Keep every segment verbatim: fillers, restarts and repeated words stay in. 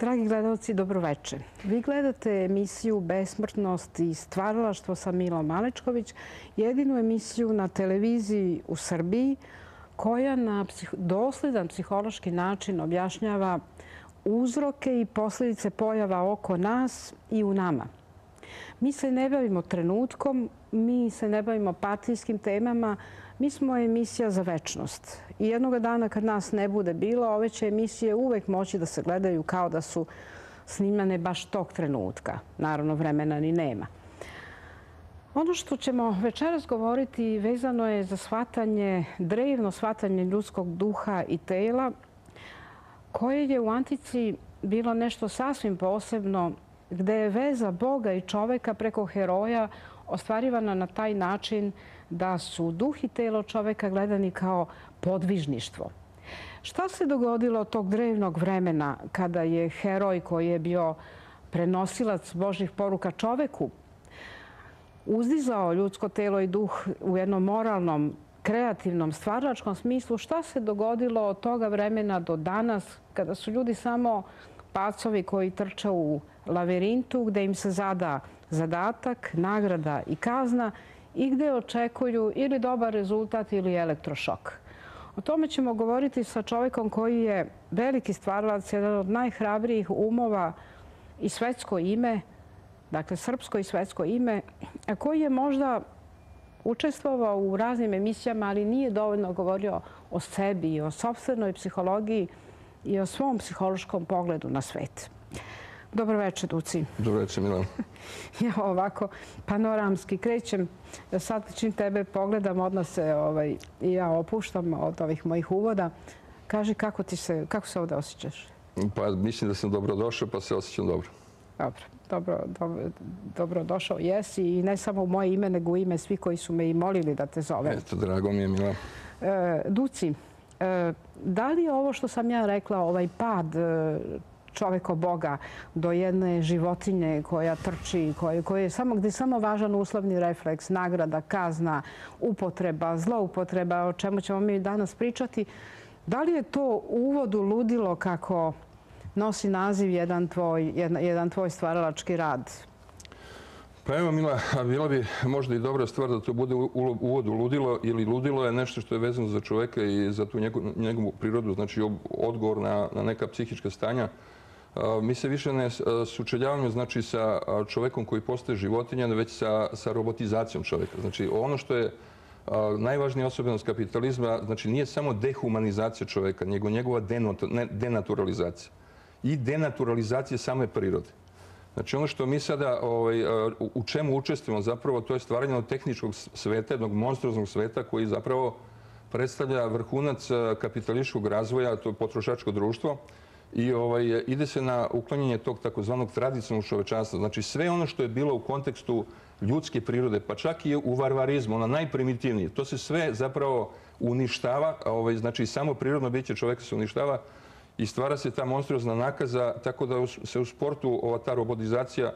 Dragi gledalci, dobroveče. Vi gledate emisiju Besmrtnost i stvaralaštvo sa Milom Malečković, jedinu emisiju na televiziji u Srbiji koja na dosledan psihološki način objašnjava uzroke i posljedice pojava oko nas i u nama. Mi se ne bavimo trenutkom, mi se ne bavimo partijskim temama, mi smo emisija za večnost. I jednog dana kad nas ne bude bilo, ove će emisije uvek moći da se gledaju kao da su snimane baš tog trenutka. Naravno, vremena ni nema. Ono što ćemo večeras govoriti vezano je za shvatanje, drevno shvatanje ljudskog duha i tela, koje je u antici bilo nešto sasvim posebno, gde je veza Boga i čoveka preko heroja ostvarivana na taj način da su duh i telo čoveka gledani kao podvižništvo. Šta se dogodilo tog drevnog vremena kada je heroj koji je bio prenosilac Božjih poruka čoveku uzdizao ljudsko telo i duh u jednom moralnom, kreativnom, stvaralačkom smislu? Šta se dogodilo od toga vremena do danas kada su ljudi samo pacovi koji trče u lavirintu gde im se zada zadatak, nagrada i kazna i gde očekuju ili dobar rezultat ili elektrošok? O tome ćemo govoriti sa čovekom koji je veliki stvaralac, jedan od najhrabrijih umova i svetsko ime, dakle srpsko i svetsko ime, a koji je možda učestvovao u raznim emisijama, ali nije dovoljno govorio o sebi i o sopstvenoj psihologiji i o svom psihološkom pogledu na svet. Dobro večer, Duci. Dobro večer, Milan. Ja ovako panoramski krećem. Sad čim tebe pogledam, odmah se ovaj, i ja opuštam od ovih mojih uvoda. Kaži kako, ti se, kako se ovdje osjećaš? Pa mislim da sam dobro došao, pa se osjećam dobro. Dobro, dobro, dobro, dobro došao jesi i ne samo u moje ime, nego u ime svi koji su me i molili da te zovem. Eto, drago mi je, Milan. E, Duci, e, da li je ovo što sam ja rekla, ovaj pad e, čoveko Boga do jedne životinje koja trči, koje, koje je samo, gdje je samo važan uslovni refleks, nagrada, kazna, upotreba, zloupotreba, o čemu ćemo mi danas pričati. Da li je to uvod u ludilo kako nosi naziv jedan tvoj, jedan, jedan tvoj stvaralački rad? Pa evo, Mila, bila bi možda i dobra stvar da to bude uvod u ludilo, ili ludilo je nešto što je vezano za čoveka i za tu njegovu, njegovu prirodu, znači odgovor na, na neka psihička stanja. Mi se više ne sučeljavamo znači, sa čovekom koji postaje životinja, već sa, sa robotizacijom čoveka. Znači, ono što je najvažnija osobenost kapitalizma, znači nije samo dehumanizacija čoveka, nego njegova denaturalizacija i denaturalizacija same prirode. Znači, ono što mi sada, ovaj, u čemu učestvujemo zapravo, to je stvaranje od tehničkog sveta, jednog monstruoznog sveta koji zapravo predstavlja vrhunac kapitalističkog razvoja, to je potrošačko društvo, i ovaj, ide se na uklanjanje tog takozvanog tradicionalnog čovečanstva. Znači, sve ono što je bilo u kontekstu ljudske prirode, pa čak i u varvarizmu, ona najprimitivnije, to se sve zapravo uništava, ovaj, znači samo prirodno biće čoveka se uništava i stvara se ta monstruozna nakaza, tako da se u sportu ova ta robotizacija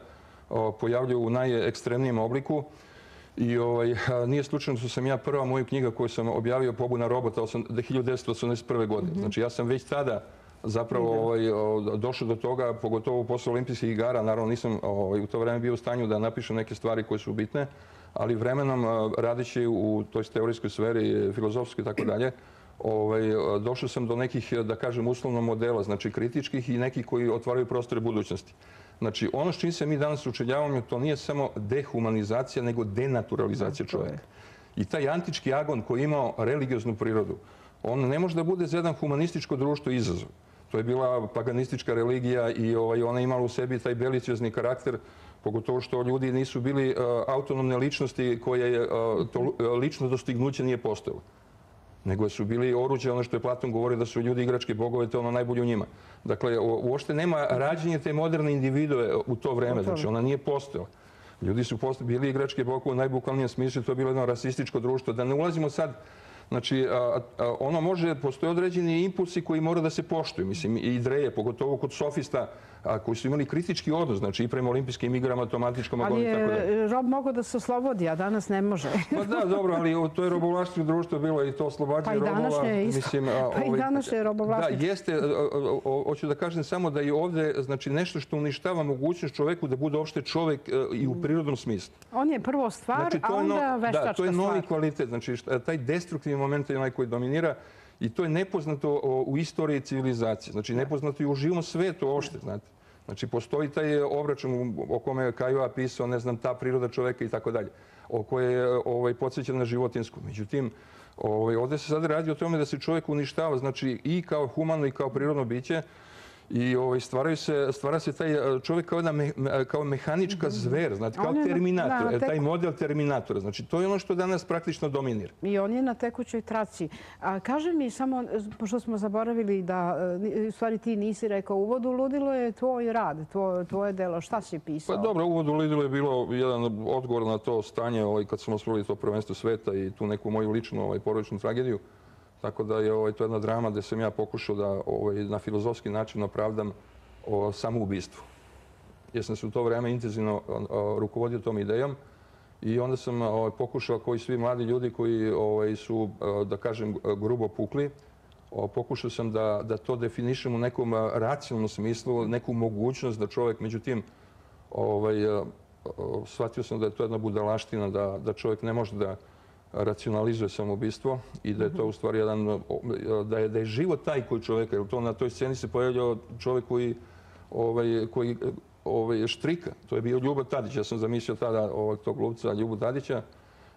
pojavljuje u najekstremnijem obliku. I ovaj, nije slučajno što sam ja prva moju knjiga koju sam objavio, Pobuna robota, hiljadu devetsto osamdeset prve. godine. Znači, ja sam već tada zapravo ovaj, došao do toga, pogotovo posle olimpijskih igara. Naravno, nisam ovaj, u to vreme bio u stanju da napišem neke stvari koje su bitne, ali vremenom, radeći u toj teorijskoj sferi, filozofskoj i tako dalje, ovaj, došao sam do nekih, da kažem, uslovno modela, znači kritičkih i nekih koji otvaraju prostore budućnosti. Znači, ono s čim se mi danas učeljavamo, to nije samo dehumanizacija, nego denaturalizacija čoveka. I taj antički agon koji je imao religioznu prirodu, on ne može da bude za jedan humanističko društvo izazov. To je bila paganistička religija i ovaj, ona je imala u sebi taj beliciozni karakter, pogotovo što ljudi nisu bili uh, autonomne ličnosti koje je, uh, to lično dostignuće nije postojalo. Nego su bili oruđe, ono što je Platon govorio da su ljudi igračke bogove, to ono najbolje u njima. Dakle, uopšte nema rađenje te moderne individue u to vreme, znači ona nije postojala. Ljudi su bili igračke bogove u najbukvalnijem smislu, to je bilo jedno rasističko društvo. Da ne ulazimo sad Znači, a, a, ono može, postoje određeni impulsi koji mora da se poštuju. Mislim, i ideje, pogotovo kod sofista, a, koji su imali kritički odnos, znači i prema olimpijskim igrama, tomatičkom agonu i tako da. Ali je rob mogao da se oslobodi, a danas ne može. Pa da, dobro, ali to je robovlaštvo društvo bilo i to oslobađanje robova. Pa i današnje je isto. Mislim, pa i današnje je robovlaštvo. Da, jeste, hoću da kažem samo da je ovde znači, nešto što uništava mogućnost čoveku da bude uopšte čovek i u prirodnom smislu. On je prvo stvar, znači, a onda no, veštačka stvar. Da, to je novi kvalitet. Znači, taj destruktivni moment je onaj koji dominira i to je nepoznato u istoriji civilizacije. Znači, nepoznato i u živom svetu uopšte, znate. Znači, postoji taj obračun o kome je Kajova pisao, ne znam, ta priroda čoveka i tako dalje, o kojoj je ovaj, podsjećena na životinsku. Međutim, ovaj, ovdje se sad radi o tome da se čovjek uništava, znači i kao humano i kao prirodno biće, i ovaj, stvaraju se, stvara se taj čovjek kao, jedna me, kao mehanička zver, znači kao terminator, na, na taj model terminatora. Znači, to je ono što danas praktično dominira. I on je na tekućoj traci. A kaži mi samo, pošto smo zaboravili da, u stvari ti nisi rekao, Uvod u ludilo je tvoj rad, tvoje, tvoje delo. Šta si pisao? Pa dobro, Uvod u ludilo je bilo jedan odgovor na to stanje ovaj, kad smo osvojili to prvenstvo sveta i tu neku moju ličnu ovaj, porodičnu tragediju. Tako da je ovaj, to jedna drama gdje sam ja pokušao da ovaj, na filozofski način opravdam o samoubistvo. Jer sam se u to vreme intenzivno o, rukovodio tom idejom i onda sam ovaj, pokušao, koji svi mladi ljudi koji ovaj, su, da kažem, grubo pukli, o, pokušao sam da, da to definišem u nekom racionalnom smislu, neku mogućnost da čovjek, međutim, ovaj, shvatio sam da je to jedna budalaština, da, da čovjek ne može da racionalizuje samoubistvo i da je to u stvari jedan, da je, da je život taj koji čovjeka, jer to na toj sceni se pojavljao čovjek koji, ovaj, koji ovaj, štrika. To je bio Ljubo Tadić. Ja sam zamislio tada ovaj, tog glumca Ljubu Tadića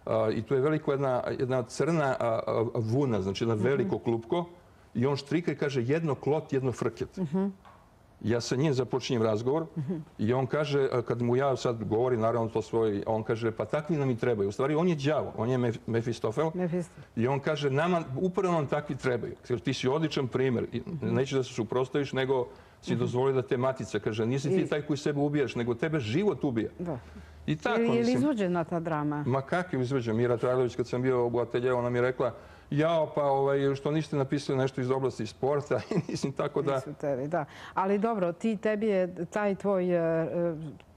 a, i tu je veliko jedna, jedna crna a, a, vuna, znači jedna veliko klupko i on štrika i kaže jedno klot, jedno frket. Uh-huh. Ja sa njim započinjem razgovor i on kaže, kad mu ja sad govorim, naravno to svoje, on kaže, pa takvi nam i trebaju. U stvari, on je đavo, on je Mefistofel. I on kaže, nama, upravo nam takvi trebaju. Jer ti si odličan primjer. Neće da se suprotstaviš, nego si dozvoli da te matica. Kaže, nisi ti taj koji sebe ubijaš, nego tebe život ubija. I tako, je li izvođena ta drama? Ma kak je izvođena? Mira Trajlović, kad sam bio u ateljevu, ona mi je rekla, jao, pa ovaj, što niste napisali nešto iz oblasti sporta i mislim tako da... Nisu tebi, da. Ali dobro, ti, tebi je taj tvoj,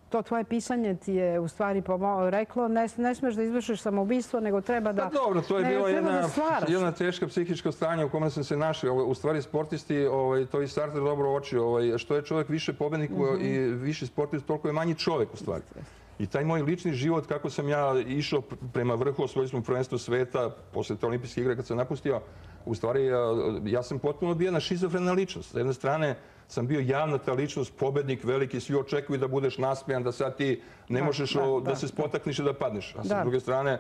to tvoje pisanje ti je u stvari reklo, ne, ne smeš da izvršiš samoubistvo, nego treba da... Pa dobro, to je bila jedna, jedna teška psihička stanja u kome sam se našao. U stvari sportisti, ovaj, to i Sartre dobro očio, ovaj, što je čovjek više pobednik mm-hmm. i više sportist, toliko je manji čovjek u stvari. I taj moj lični život, kako sam ja išao prema vrhu, osvojili smo prvenstvo sveta, posle te olimpijske igre kad sam napustio, u stvari ja sam potpuno bio na šizofrena ličnost. S jedne strane sam bio javna ta ličnost, pobednik veliki, svi očekuju da budeš nasmejan, da sad ti ne možeš da, da, da se spotakniš i da padneš. A sa druge strane,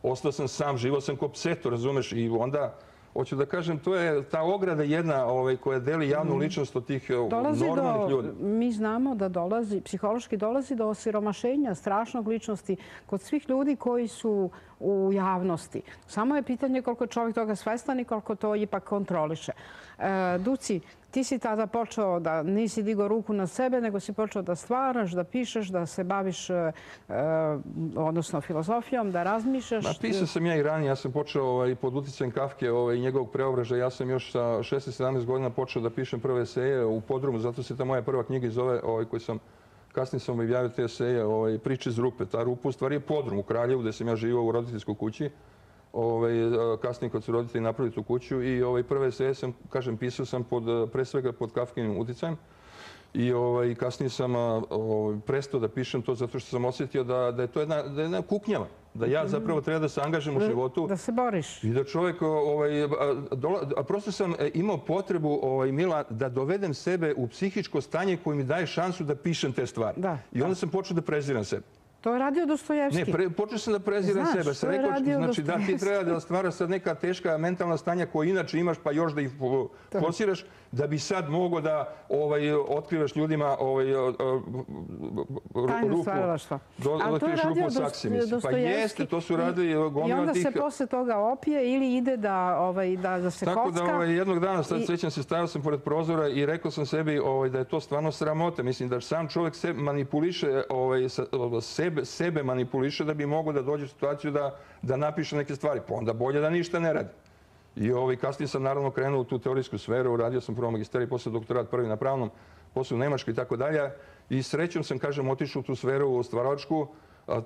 ostao sam sam, živao sam ko pseto, razumeš, i onda... Hoću da kažem, to je ta ograda jedna ovaj, koja deli javnu ličnost od tih dolazi normalnih do, ljudi. Mi znamo da dolazi, psihološki dolazi do osiromašenja strašnog ličnosti kod svih ljudi koji su u javnosti. Samo je pitanje koliko je čovjek toga svestan i koliko to ipak kontroliše. E, Duci, ti si tada počeo da nisi digao ruku na sebe, nego si počeo da stvaraš, da pišeš, da se baviš e, odnosno filozofijom, da razmišljaš. Ma, pisao sam ja i ranije. Ja sam počeo ovaj, pod uticajem Kafke ovaj, i njegovog preobražaja. Ja sam još sa šesnaest sedamnaest godina počeo da pišem prve eseje u Podrumu. Zato se ta moja prva knjiga zove, ovaj, koji sam kasnije sam objavio te eseje, ovaj, Priče iz rupe. Ta rupa u stvari je Podrum u Kraljevu, gdje sam ja živao u roditeljskoj kući. Ovaj, kasnije kad su roditelji napravili tu kuću i ovaj, prve eseje sam, kažem, pisao sam pod, pre svega pod Kafkinim uticajem. I ovaj, kasnije sam ovaj, prestao da pišem to zato što sam osjetio da, da je to jedna, da je jedna kuknjava. Da ja zapravo treba da se angažem u životu. Da se boriš. I da čovjek, ovaj, a, dola, a prosto sam imao potrebu, ovaj, Mila, da dovedem sebe u psihičko stanje koje mi daje šansu da pišem te stvari. Da, I onda da. sam počeo da preziram sebe. To je radio Dostojevski. Ne, pre, počeo sam da preziram Znaš, sebe. Sam rekao, znači, da ti treba da stvara sad neka teška mentalna stanja koja inače imaš, pa još da ih forsiraš, da bi sad mogo da ovaj, otkrivaš ljudima ovaj, rupu. Ali to je radio Dostojevski. Pa jeste, to su radili gomila tih... I onda se posle toga opije ili ide da, ovaj, da, da se Tako kocka. Tako da ovaj, jednog dana, sad I... sećam se, stavio sam pored prozora i rekao sam sebi ovaj, da je to stvarno sramota. Mislim da sam čovjek se manipuliše ovaj, sa, sebe, sebe manipuliše da bi mogao da dođe u situaciju da, da napiše neke stvari. Pa onda bolje da ništa ne radi. I ovaj, kasnije sam naravno krenuo u tu teorijsku sferu, radio sam prvo magisterij, posle doktorat prvi na pravnom, posle u Nemačkoj i tako dalje. I srećom sam, kažem, otišao u tu sferu stvaralačku,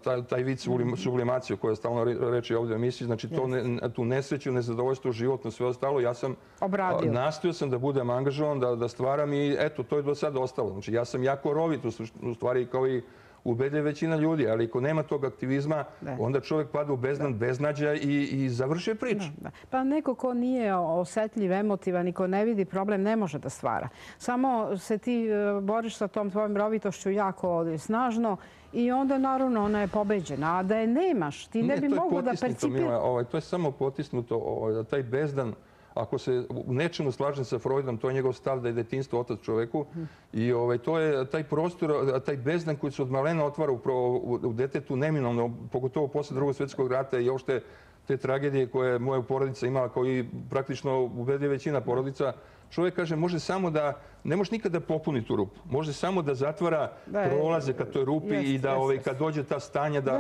taj, taj vid sublimacije koja je stalno reči ovdje u emisiji, znači to ne, tu nesreću, nezadovoljstvo, životno, sve ostalo, ja sam obradio. Nastojao sam da budem angažovan, da, da stvaram i eto, to je do sada ostalo. Znači ja sam jako rovit, u stvari kao i ubedljiva većina ljudi, ali ako nema tog aktivizma, ne. Onda čovjek pada u bezdan, beznađa i, i završi priču. Da, da. Pa neko ko nije osetljiv, emotivan i ko ne vidi problem, ne može da stvara. Samo se ti boriš sa tom tvojom rovitošću jako snažno i onda naravno ona je pobeđena. A da je nemaš, ti ne, ne bi mogao da percipiraš. Ovaj, to je samo potisnuto, ovaj, taj bezdan. Ako se u nečemu slažem sa Freudom, to je njegov stav da je detinjstvo otac čoveku. I ovaj, to je taj prostor, taj bezdan koji se od malena otvara upravo u detetu neminovno, pogotovo posle Drugog svjetskog rata i uopšte te tragedije koje je moja porodica imala, kao i praktično ubedljiva većina porodica. Čovjek kaže, može samo da, ne može nikada da popuni tu rupu. Može samo da zatvara prolaze ka toj rupi i da ovaj, kad dođe ta stanja da,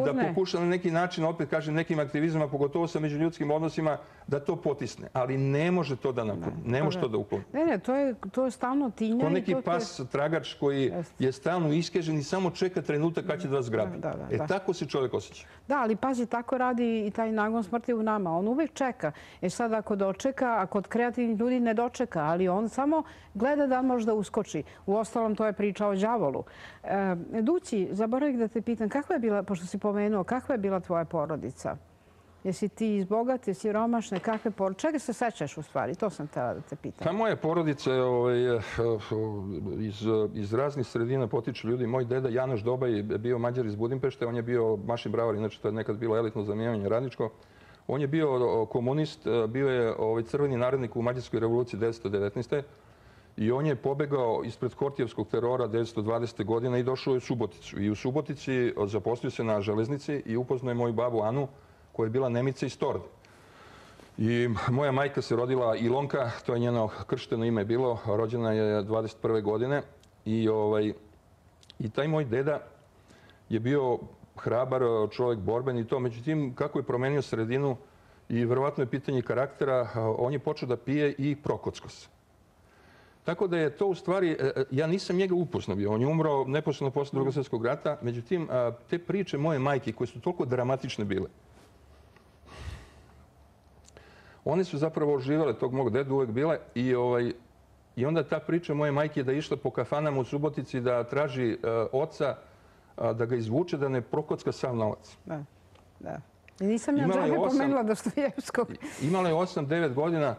da pokuša na neki način, opet kažem, nekim aktivizmama, pogotovo sa međuljudskim odnosima, da to potisne. Ali ne može to da nakloni, ne može to da ukloni. Ne, ne, to je, to je stalno tinja. Ko neki pas, tragač koji je stalno iskežen i samo čeka trenutak kad će da vas grabi. E tako se čovjek osjeća. Da, ali pazi, tako radi i taj nagon smrti u nama. On uvijek čeka. E sad ako dočeka, a kod kreativnih ljudi ne dočeka, ali on samo gleda da možda uskoči. Uostalom, to je priča o đavolu. E, Dući, zaboravih da te pitam, kakva je bila, pošto si pomenuo, kakva je bila tvoja porodica? Jesi ti iz bogate, siromašne, kakve porodice? Čega se sećaš u stvari? To sam htjela da te pitam. Pa moja porodica je ovaj, iz, iz raznih sredina potiču ljudi. Moj deda Janoš Dobaj je bio Mađar iz Budimpešte. On je bio mašin bravar, inače to je nekad bilo elitno zanimanje radničko. On je bio komunist, bio je ovaj, crveni narednik u Mađarskoj revoluciji devetsto devetnaeste. I on je pobegao ispred Hortijevskog terora devetsto dvadesete godine i došao je u Suboticu. I u Subotici zaposlio se na železnici i upoznao je moju babu Anu, koja je bila Nemica iz Torde. I moja majka se rodila Ilonka, to je njeno kršteno ime bilo, rođena je dvadeset prve godine. I, ovaj, i taj moj deda je bio hrabar čovjek, borben i to. Međutim, kako je promenio sredinu i verovatno je pitanje karaktera, on je počeo da pije i prokocko se. Tako da je to u stvari, ja nisam njega upoznao bio, on je umro neposredno posle Drugog svjetskog rata. Međutim, te priče moje majke koje su toliko dramatične bile, one su zapravo oživjele tog mog dedu, uvek bile. I, ovaj, i onda ta priča moje majke je da je išla po kafanama u Subotici da traži uh, oca, uh, da ga izvuče, da ne prokocka sav novac. Da, da. I nisam ja džabe pomenula Dostojevskog. Imala je osam devet godina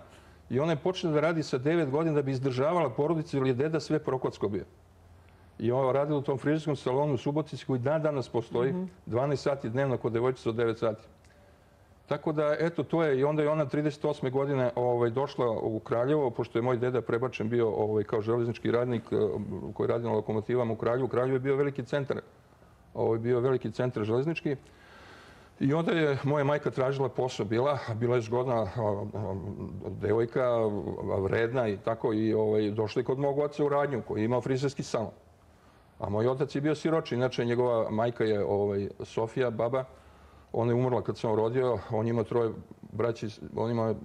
i ona je počela da radi sa devet godina da bi izdržavala porodicu, jer je deda sve prokocko bio. I ona radila u tom frizerskom salonu u Subotici koji dan danas postoji, mm-hmm. dvanaest sati dnevno kod devojčica od devet sati. Tako da, eto, to je. I onda je ona trideset osme godine ovaj, došla u Kraljevo, pošto je moj deda prebačen bio ovaj, kao železnički radnik koji radi na lokomotivama u Kraljevu. U Kraljevu je bio veliki centar, ovaj, bio veliki centar železnički. I onda je moja majka tražila posao, bila, bila je zgodna devojka, vredna i tako. I ovaj, došla je kod mog oca u radnju koji je imao frizerski salon. A moj otac je bio siroči, inače njegova majka je ovaj, Sofija, baba. Ona je umrla kad sam rodio, on ima troje braće, on ima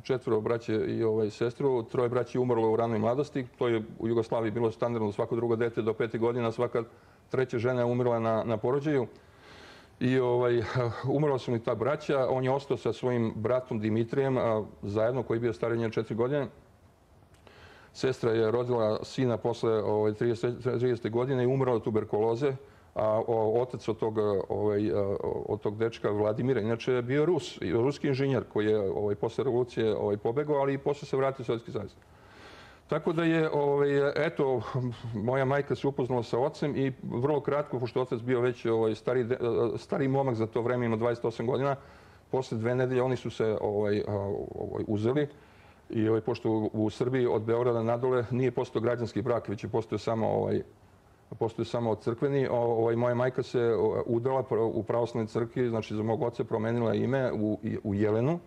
četvoro braće i ovaj, sestru, troje braće je umrlo u ranoj mladosti. To je u Jugoslaviji bilo standardno, svako drugo dete do pete godina, svaka treća žena je umrla na, na porođaju. I ovaj, umrla su mi ta braća, on je ostao sa svojim bratom Dimitrijem, a, zajedno, koji je bio stariji njen četiri godine. Sestra je rodila sina posle ovaj, tridesete godine i umrla od tuberkuloze. A otac od tog, ovaj, od tog dečka Vladimira, inače je bio Rus, ruski inženjer koji je ovaj, posle revolucije ovaj, pobegao, ali i posle se vratio u Sovjetski savez. Tako da je, ovaj, eto, moja majka se upoznala sa ocem i vrlo kratko, pošto otac bio već ovaj, stari, stari momak za to vreme, ima dvadeset osam godina, posle dve nedelje oni su se ovaj, ovaj, uzeli. I ovaj, pošto u, u Srbiji od Beograda nadole nije postao građanski brak, već je postao samo ovaj, postoje samo crkveni. Ovaj, moja majka se udala u pravoslavnoj crkvi, znači za mog oca promenila ime u, u Jelenu.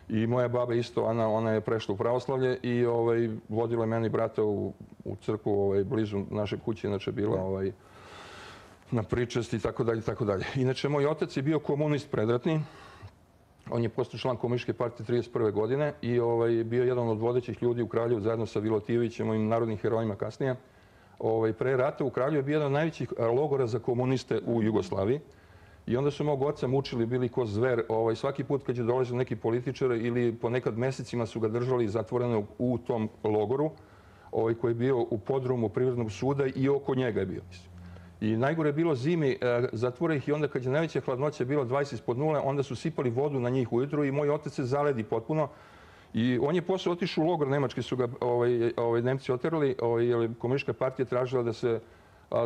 I moja baba isto, ona, ona je prešla u pravoslavlje i ovaj, vodila je meni brata u, u crkvu ovaj, blizu naše kuće, inače bila ovaj, na pričesti i tako dalje, tako dalje. Inače, moj otac je bio komunist predratni. On je postao član Komunističke partije trideset prve godine i ovaj, bio jedan od vodećih ljudi u Kraljevu zajedno sa Vilotijevićem, mojim narodnim herojima kasnije. Ovaj, pre rata u Kraljevu je bio jedan od najvećih logora za komuniste u Jugoslaviji. I onda su mog oca mučili, bili ko zver. Ovaj, svaki put kad je dolazio neki političar ili ponekad mesecima su ga držali zatvorenog u tom logoru, ovaj, koji je bio u podrumu Privrednog suda i oko njega je bio. I najgore je bilo zimi, zatvore ih i onda kad je najveća hladnoća bilo dvadeset ispod nule, onda su sipali vodu na njih ujutru i moj otac se zaledi potpuno. I on je posle otišao u logor, nemački su ga ovaj, ovaj, Nemci oterali, ovaj, jer Komunistička partija tražila da se,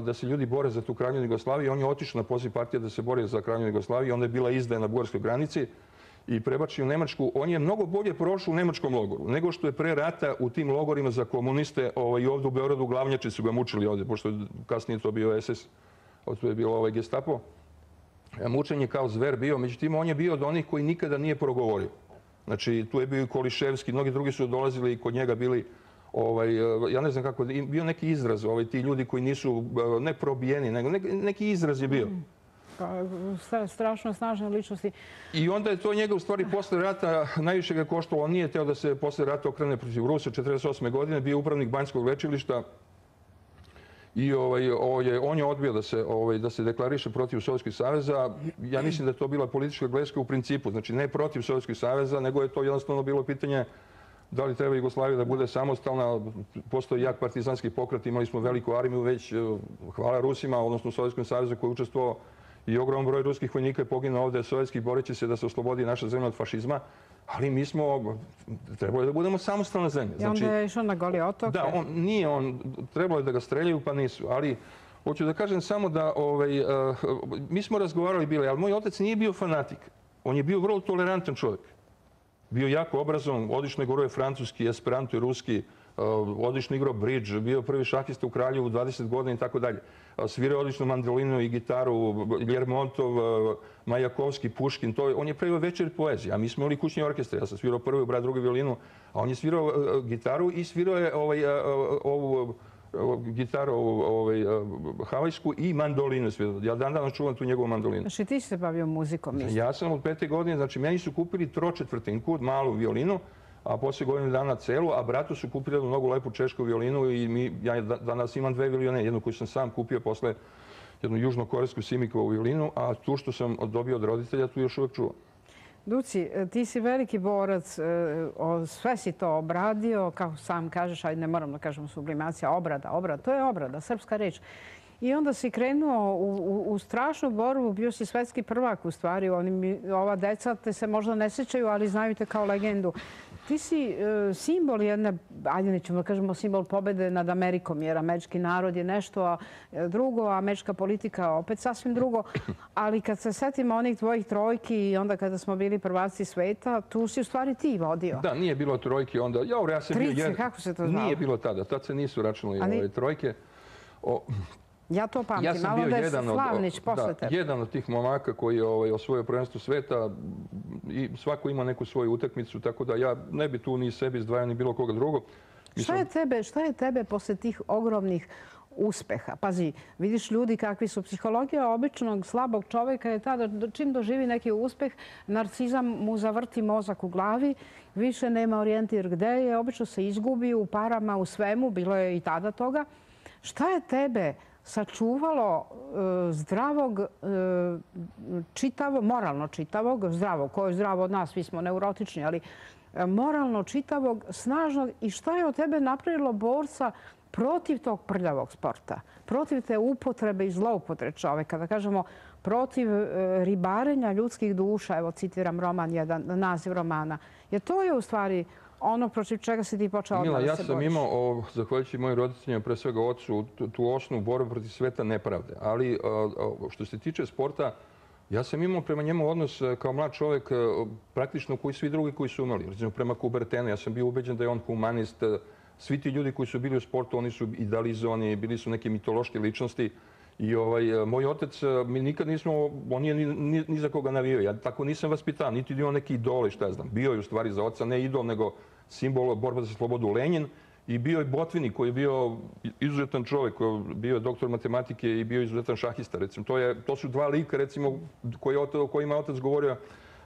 da se ljudi bore za tu Kraljevinu Jugoslaviju. On je otišao na poziv partije da se bori za Kraljevinu Jugoslaviju, onda je bila izdaja na bugarskoj granici i prebačio u Nemačku. On je mnogo bolje prošao u nemačkom logoru nego što je pre rata u tim logorima za komuniste ovaj, ovdje u Beogradu glavnjači su ga mučili ovdje, pošto je kasnije to bio es es, to je bilo ovaj Gestapo. Mučenje kao zver bio, međutim on je bio od onih koji nikada nije progovorio. Znači tu je bio i Koliševski, mnogi drugi su dolazili i kod njega bili, ovaj, ja ne znam kako, bio neki izraz, ovaj, ti ljudi koji nisu ne probijeni, nego neki, neki izraz je bio. Strašno snažne ličnosti. I onda je to njega u stvari posle rata najviše ga koštalo. On nije teo da se posle rata okrene protiv Rusa. četrdeset osme godine bio upravnik Banjskog lečilišta i ovaj, ovaj, on je odbio da se, ovaj, da se deklariše protiv Sovjetskog saveza. Ja mislim da je to bila politička greška u principu. Znači ne protiv Sovjetskog saveza, nego je to jednostavno bilo pitanje da li treba Jugoslavija da bude samostalna. Postoji jak partizanski pokret, imali smo veliku armiju već, hvala Rusima, odnosno Sovjetskom savezu koji je učestvovao. I ogroman broj ruskih vojnika je poginuo ovdje sovjetskih boreći se da se oslobodi naša zemlja od fašizma, ali mi smo, trebalo je da budemo samostalna zemlja. I onda je išao na Goli otok? Da, on, nije on, trebalo je da ga streljaju pa nisu, ali hoću da kažem samo da ovaj, uh, mi smo razgovarali bili, ali moj otac nije bio fanatik. On je bio vrlo tolerantan čovjek. Bio jako obrazovan, odlično govorio francuski, esperanto i ruski, odlično igrao bridge, bio prvi šahista u Kraljevu dvadeset godina i tako dalje. Svirao odlično mandolinu i gitaru, Ljermontov, Majakovski, Puškin. To, on je pravio večer poezije, a mi smo imali kućni orkestar. Ja sam svirao prvi, brat drugi violinu, a on je svirao gitaru i svirao je ovaj, ovu gitaru ovaj, havajsku i mandolinu. Ja dan danas čuvam tu njegovu mandolinu. Znači ti si se bavio muzikom? Mislim. Ja sam od pete godine, znači meni su kupili tročetvrtinku, malu violinu, a poslije godinu dana celu, a bratu su kupili jednu mnogo lepu češku violinu i mi, ja danas imam dve violine, jednu koju sam sam kupio posle jednu južnokorejsku Simikovu violinu, a tu što sam dobio od roditelja, tu još uvijek čuvam. Duci, ti si veliki borac, sve si to obradio, kao sam kažeš, ajde ne moram da kažem sublimacija, obrada, obrada, to je obrada, srpska reč. I onda si krenuo u, u, u strašnu borbu, bio si svetski prvak u stvari. Oni, ova deca te se možda ne sjećaju, ali znaju te kao legendu. Ti si e, simbol jedne, ajde nećemo da kažemo simbol pobjede nad Amerikom, jer američki narod je nešto a drugo, a američka politika opet sasvim drugo. Ali kad se setimo onih tvojih trojki i onda kada smo bili prvaci sveta, tu si u stvari ti vodio. Da, nije bilo trojke onda. Ja, ja sam Trice, bio jedan... kako se to znalo? Nije bilo tada, tad se nisu računali ali... ove trojke. O... Ja to pamtim, ja malo da je Slavnić posle tebe. Jedan od tih momaka koji je ovaj, osvojio prvenstvo sveta i svako ima neku svoju utakmicu, tako da ja ne bi tu ni sebi izdvajao ni bilo koga drugog. Mislim... Šta je tebe, šta je tebe posle tih ogromnih uspeha? Pazi, vidiš ljudi kakvi su. Psihologija običnog slabog čovjeka je ta da čim doživi neki uspeh, narcizam mu zavrti mozak u glavi, više nema orijentir gde je, obično se izgubi u parama, u svemu, bilo je i tada toga. Šta je tebe sačuvalo zdravog, čitavog, moralno čitavog, zdravog, ko je zdravo od nas, svi smo neurotični, ali moralno čitavog, snažnog i šta je od tebe napravilo borca protiv tog prljavog sporta, protiv te upotrebe i zloupotrebe čoveka, da kažemo protiv ribarenja ljudskih duša, evo citiram roman, jedan naziv romana, jer to je u stvari ono protiv čega si ti počeo odmah da se boriš. Ja sam imao, zahvaljujući mojim roditeljima, pre svega ocu, tu osnovu borbu protiv sveta nepravde. Ali što se tiče sporta, ja sam imao prema njemu odnos kao mlad čovjek praktično koji svi drugi koji su imali. Recimo prema Kubertenu, ja sam bio ubeđen da je on humanist. Svi ti ljudi koji su bili u sportu, oni su idealizovani, bili su neke mitološke ličnosti. I ovaj, moj otac, mi nikad nismo, on nije ni, ni, ni za koga navio. Ja tako nisam vaspitan, niti bio neki idol, šta ja znam. Bio je u stvari za oca ne idol, nego simbol borba za slobodu Lenin. I bio je Botvini koji je bio izuzetan čovjek, bio je doktor matematike i bio je izuzetan šahista. Recimo, to, je, to su dva lika recimo, koji, o kojima je otac govorio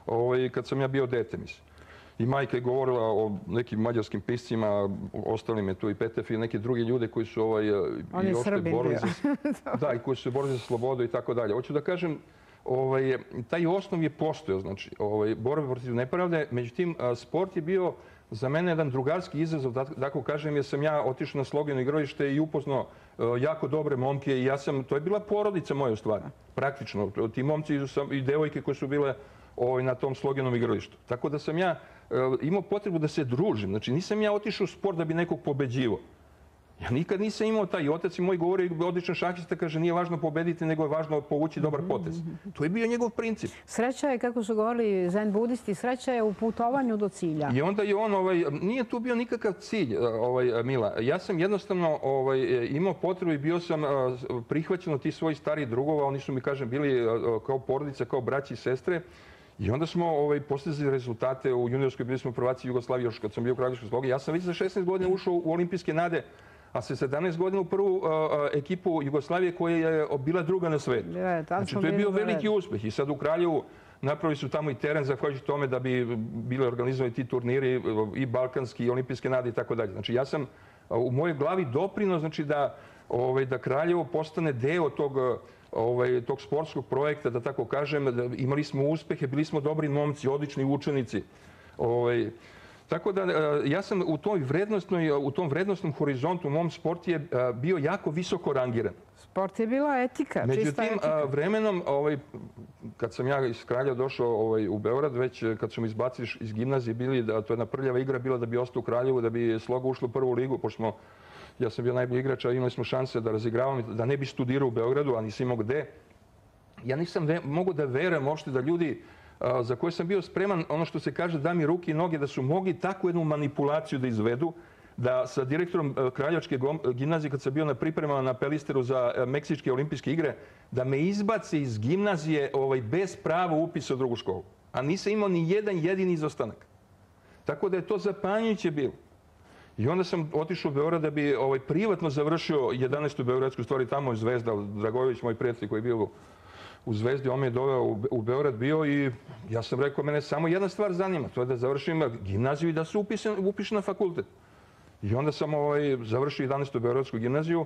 ovaj, kad sam ja bio dete, mislim. I majka je govorila o nekim mađarskim piscima, ostali me tu i Petef i neki drugi ljude koji su ovaj, i ošte borili za, da, i koji su borili za slobodu i tako dalje. Hoću da kažem, ovaj, taj osnov je postojao, znači, ovaj, borba protiv nepravde. Međutim, sport je bio za mene jedan drugarski izazov, da tako kažem, jer sam ja otišao na Slogino igralište i upoznao jako dobre momke i ja sam, to je bila porodica moja u stvari, praktično. Ti momci i devojke koje su bile ovaj, na tom Sloginom igralištu. Tako da sam ja imao potrebu da se družim. Znači, nisam ja otišao u sport da bi nekog pobeđivo. Ja nikad nisam imao taj. Otac i moj govori, odličan šahista, kaže, nije važno pobediti, nego je važno povući dobar potez. To je bio njegov princip. Sreća je, kako su govorili zen budisti, sreća je u putovanju do cilja. I onda je on, ovaj, nije tu bio nikakav cilj, ovaj, Mila. Ja sam jednostavno ovaj, imao potrebu i bio sam prihvaćen od tih svojih starih drugova. Oni su mi, kažem, bili kao porodica, kao braći i sestre. I onda smo ovaj, postizali rezultate u juniorskoj, bili smo prvaci Jugoslavije još kad sam bio u Kraljevskoj Slogi. Ja sam već za šesnaest godina ušao u olimpijske nade, a sa sedamnaest godina u prvu uh, ekipu Jugoslavije koja je bila druga na svetu. Znači, to je bio veliki uspeh. I sad u Kraljevu napravili su tamo i teren zahvaljujući tome da bi bile organizovani ti turniri i balkanski i olimpijske nade i tako dalje. Znači, ja sam u mojoj glavi doprineo, znači, da, ovaj, da Kraljevo postane deo tog Ovaj, tog sportskog projekta, da tako kažem, da imali smo uspehe, bili smo dobri momci, odlični učenici. Ovaj, tako da ja sam u, toj vrednostnoj, u tom vrednostnom horizontu u mom sport je bio jako visoko rangiran. Sport je bila etika, čista etika. Međutim, vremenom, ovaj, kad sam ja iz Kraljeva došao ovaj, u Beograd, već kad su me izbacili iz gimnazije, bili, da, to je jedna prljava igra bila da bi ostao u Kraljevu, da bi Sloga ušla u prvu ligu, pošto smo ja sam bio najbolji igrač, a imali smo šanse da razigravam, da ne bi studirao u Beogradu, a nisam imao gde. Ja nisam mogu da verujem uopšte da ljudi a, za koje sam bio spreman, ono što se kaže, da mi ruke i noge, da su mogli takvu jednu manipulaciju da izvedu, da sa direktorom Kraljevačke gimnazije, kad sam bio na pripremama na Pelisteru za Meksičke olimpijske igre, da me izbace iz gimnazije ovaj, bez prava upisa u drugu školu. A nisam imao ni jedan jedini izostanak. Tako da je to zapanjujuće bilo. I onda sam otišao u Beograd da bi ovaj, privatno završio jedanaestu beogradsku, stvari tamo je Zvezda, Dragojević, moj prijatelj koji je bio u Zvezdi, on me je doveo u, u Beograd bio i ja sam rekao, mene samo jedna stvar zanima, to je da završim gimnaziju i da se upišem na fakultet. I onda sam ovaj, završio jedanaestu beogradsku gimnaziju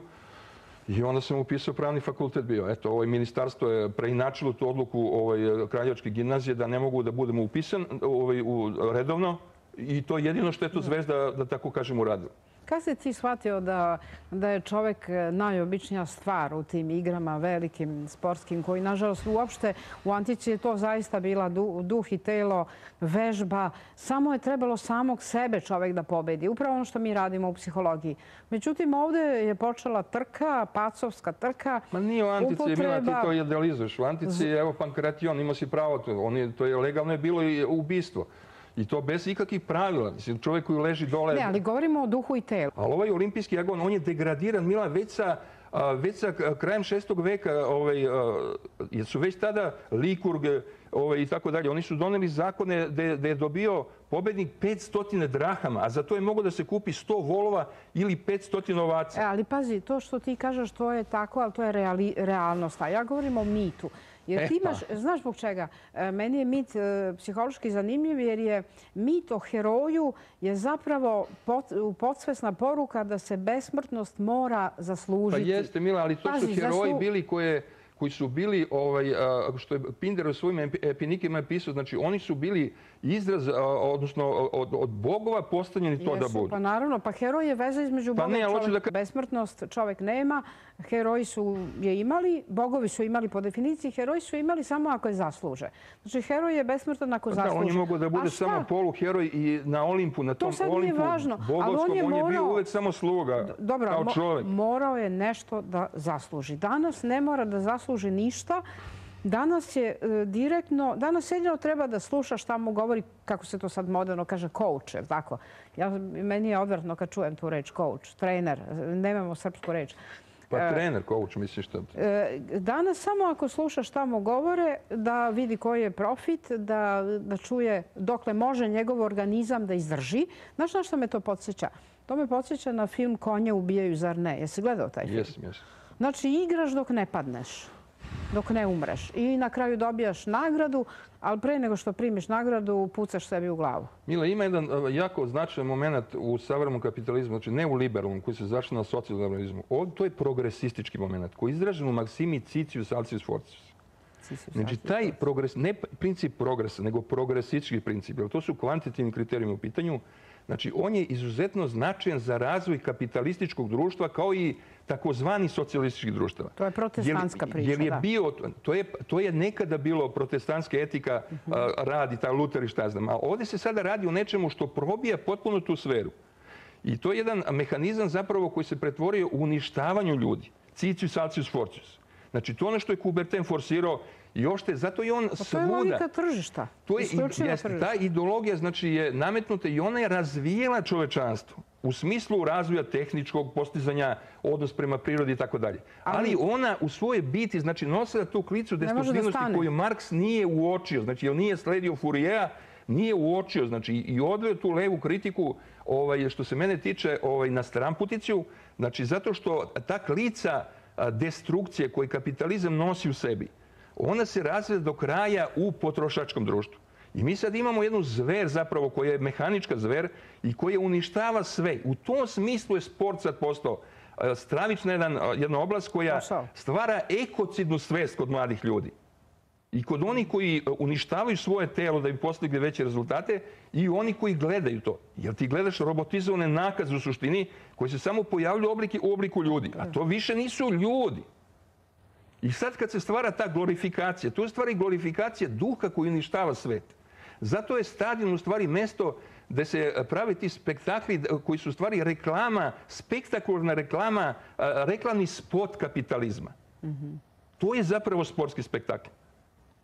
i onda sam upisao pravni fakultet bio. Eto, ovaj, ministarstvo je preinačilo tu odluku ovaj, Kraljevačke gimnazije da ne mogu da budemo upisan ovaj, u, redovno. I to je jedino što je to Zvezda, da tako kažem, uradila. Kada si ti shvatio da, da je čovek najobičnija stvar u tim igrama velikim, sportskim, koji, nažalost, uopšte u antici je to zaista bila duh i telo, vežba. Samo je trebalo samog sebe čovek da pobedi. Upravo ono što mi radimo u psihologiji. Međutim, ovde je počela trka, pacovska trka. Ma nije u antici, Mila, ti to idealizuješ. U antici, evo, Pankration, imao si pravo, to je legalno je bilo i ubistvo. I to bez ikakvih pravila. Mislim, čovjek koji leži dole... Ne, ali govorimo o duhu i telu. Ali ovaj olimpijski agon, on je degradiran, Mila, već sa, već sa krajem šestog veka, ovaj, jer su već tada Likurg ovaj, i tako dalje. Oni su doneli zakone da je dobio pobednik petsto drahama, a za to je moglo da se kupi sto volova ili petsto ovaca. E, ali pazi, to što ti kažeš, to je tako, ali to je reali, realnost. A ja govorim o mitu. Jer ti imaš, znaš zbog čega? Meni je mit psihološki zanimljiv jer je mit o heroju je zapravo podsvesna poruka da se besmrtnost mora zaslužiti. Pa jeste, Mila, ali to su heroji bili koje koji su bili, ovaj, što je Pinder u svojim epinikima pisao, znači oni su bili izraz, odnosno od, od bogova postavljeni to da budu. Pa naravno, pa heroj je veza između boga i čovjeka. Besmrtnost čovjek nema, heroji su je imali, bogovi su imali po definiciji, heroji su imali samo ako je zasluže. Znači, heroj je besmrtan ako zasluže. On je mogao da bude samo poluheroj i na Olimpu, na tom Olimpu bogovskom, on je bio uvek samo sluga, kao čovjek. Morao je nešto da zasluži. Danas ne mora da zasluži ništa. Danas je direktno, danas jedino treba da sluša šta mu govori, kako se to sad moderno kaže, coach, je tako? Ja, meni je odvratno kad čujem tu reč coach, trener, nemamo srpsku reč. Pa trener, coach, misliš što? Danas samo ako sluša šta mu govore, da vidi koji je profit, da, da čuje dokle može njegov organizam da izdrži. Znaš na što me to podsjeća? To me podsjeća na film Konje ubijaju, zar ne? Jesi gledao taj film? Jesam, jesam. Znači, igraš dok ne padneš. dok ne umreš. I na kraju dobijaš nagradu, ali pre nego što primiš nagradu, pucaš sebi u glavu. Mila, ima jedan jako značajan moment u savremenom kapitalizmu, znači ne u liberalnom, koji se zašli na socijalizmu. To je progresistički moment, koji je izražen u maksimi Citius Altius Fortius. Znači, taj progres, ne princip progresa, nego progresistički princip, jer to su kvantitativni kriterijumi u pitanju. Znači, on je izuzetno značajan za razvoj kapitalističkog društva kao i takozvani socijalističkih društava. To je protestantska priča, jer je da. Bio, to, je, to je nekada bilo protestantska etika, uh -huh. radi, ta Luter i šta znam. A ovdje se sada radi o nečemu što probija potpuno tu sferu. I to je jedan mehanizam zapravo koji se pretvorio u uništavanju ljudi. Citius Altius Fortius. Znači, to ono što je Coubertin forsirao i ošte, zato je on pa svuda... To je logika tržišta. To je, jest, ta ideologija znači, je nametnuta i ona je razvijela čovečanstvo u smislu razvoja tehničkog postizanja, odnos prema prirodi i tako dalje. Ali ona u svojoj biti, znači, nosila tu klicu destruktivnosti koju Marks nije uočio. Znači, jer nije sledio Fouriera, nije uočio, znači, i odveo tu levu kritiku, ovaj, što se mene tiče, ovaj, na stramputiciju, znači, zato što ta klica destrukcije koju kapitalizam nosi u sebi, ona se razvija do kraja u potrošačkom društvu. I mi sad imamo jednu zver zapravo koja je mehanička zver i koja uništava sve. U tom smislu je sport sad postao stravična jedan, jedna oblast koja stvara ekocidnu svest kod mladih ljudi. I kod onih koji uništavaju svoje telo da bi postigli veće rezultate i oni koji gledaju to. Jer ti gledaš robotizovane nakaze u suštini koji se samo pojavljuju u obliku ljudi. A to više nisu ljudi. I sad kad se stvara ta glorifikacija, to je stvari glorifikacija duha koji uništava svet. Zato je stadion u stvari mesto gde se pravi ti spektakli koji su u stvari reklama, spektakularna reklama, reklamni spot kapitalizma. To je zapravo sportski spektakl.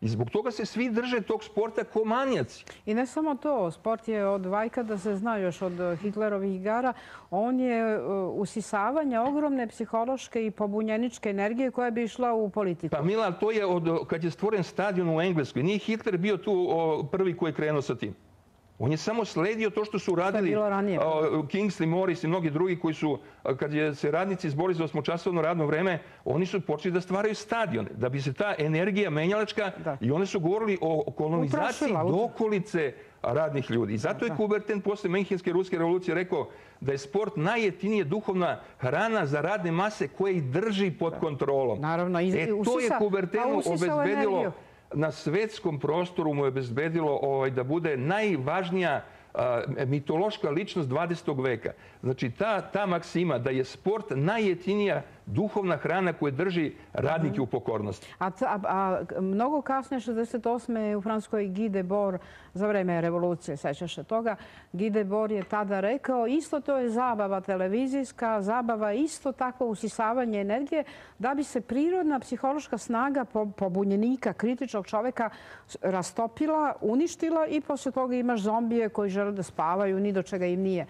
I zbog toga se svi drže tog sporta ko manijaci. I ne samo to. Sport je od vajka, da se zna još od Hitlerovih igara. On je usisavanje ogromne psihološke i pobunjeničke energije koja bi išla u politiku. Pa Mila, to je od, kad je stvoren stadion u Engleskoj. Nije Hitler bio tu o, prvi koji je krenuo sa tim. On je samo sledio to što su radili Kingsley Morris i mnogi drugi koji su, kad je se radnici izborili za osmočasovno radno vreme, oni su počeli da stvaraju stadione, da bi se ta energija menjalačka i oni su govorili o kolonizaciji dokolice radnih ljudi. I zato je Coubertin posle Menhenske ruske revolucije rekao da je sport najjeftinija duhovna hrana za radne mase koje ih drži pod kontrolom. Naravno. E to je Coubertinu obezbedilo, na svetskom prostoru mu je obezbedilo ovaj, da bude najvažnija a, mitološka ličnost dvadesetog veka. Znači, ta, ta maksima da je sport najjeftinija duhovna hrana koja drži radnike u pokornosti. A, a, a mnogo kasnije, šezdeset osme u Francuskoj Guy Debord, za vreme revolucije, sećaš se toga, Guy Debord je tada rekao, isto to je zabava televizijska, zabava isto takvo usisavanje energije, da bi se prirodna psihološka snaga pobunjenika, kritičnog čoveka rastopila, uništila i posle toga imaš zombije koji žele da spavaju, ni do čega im nije.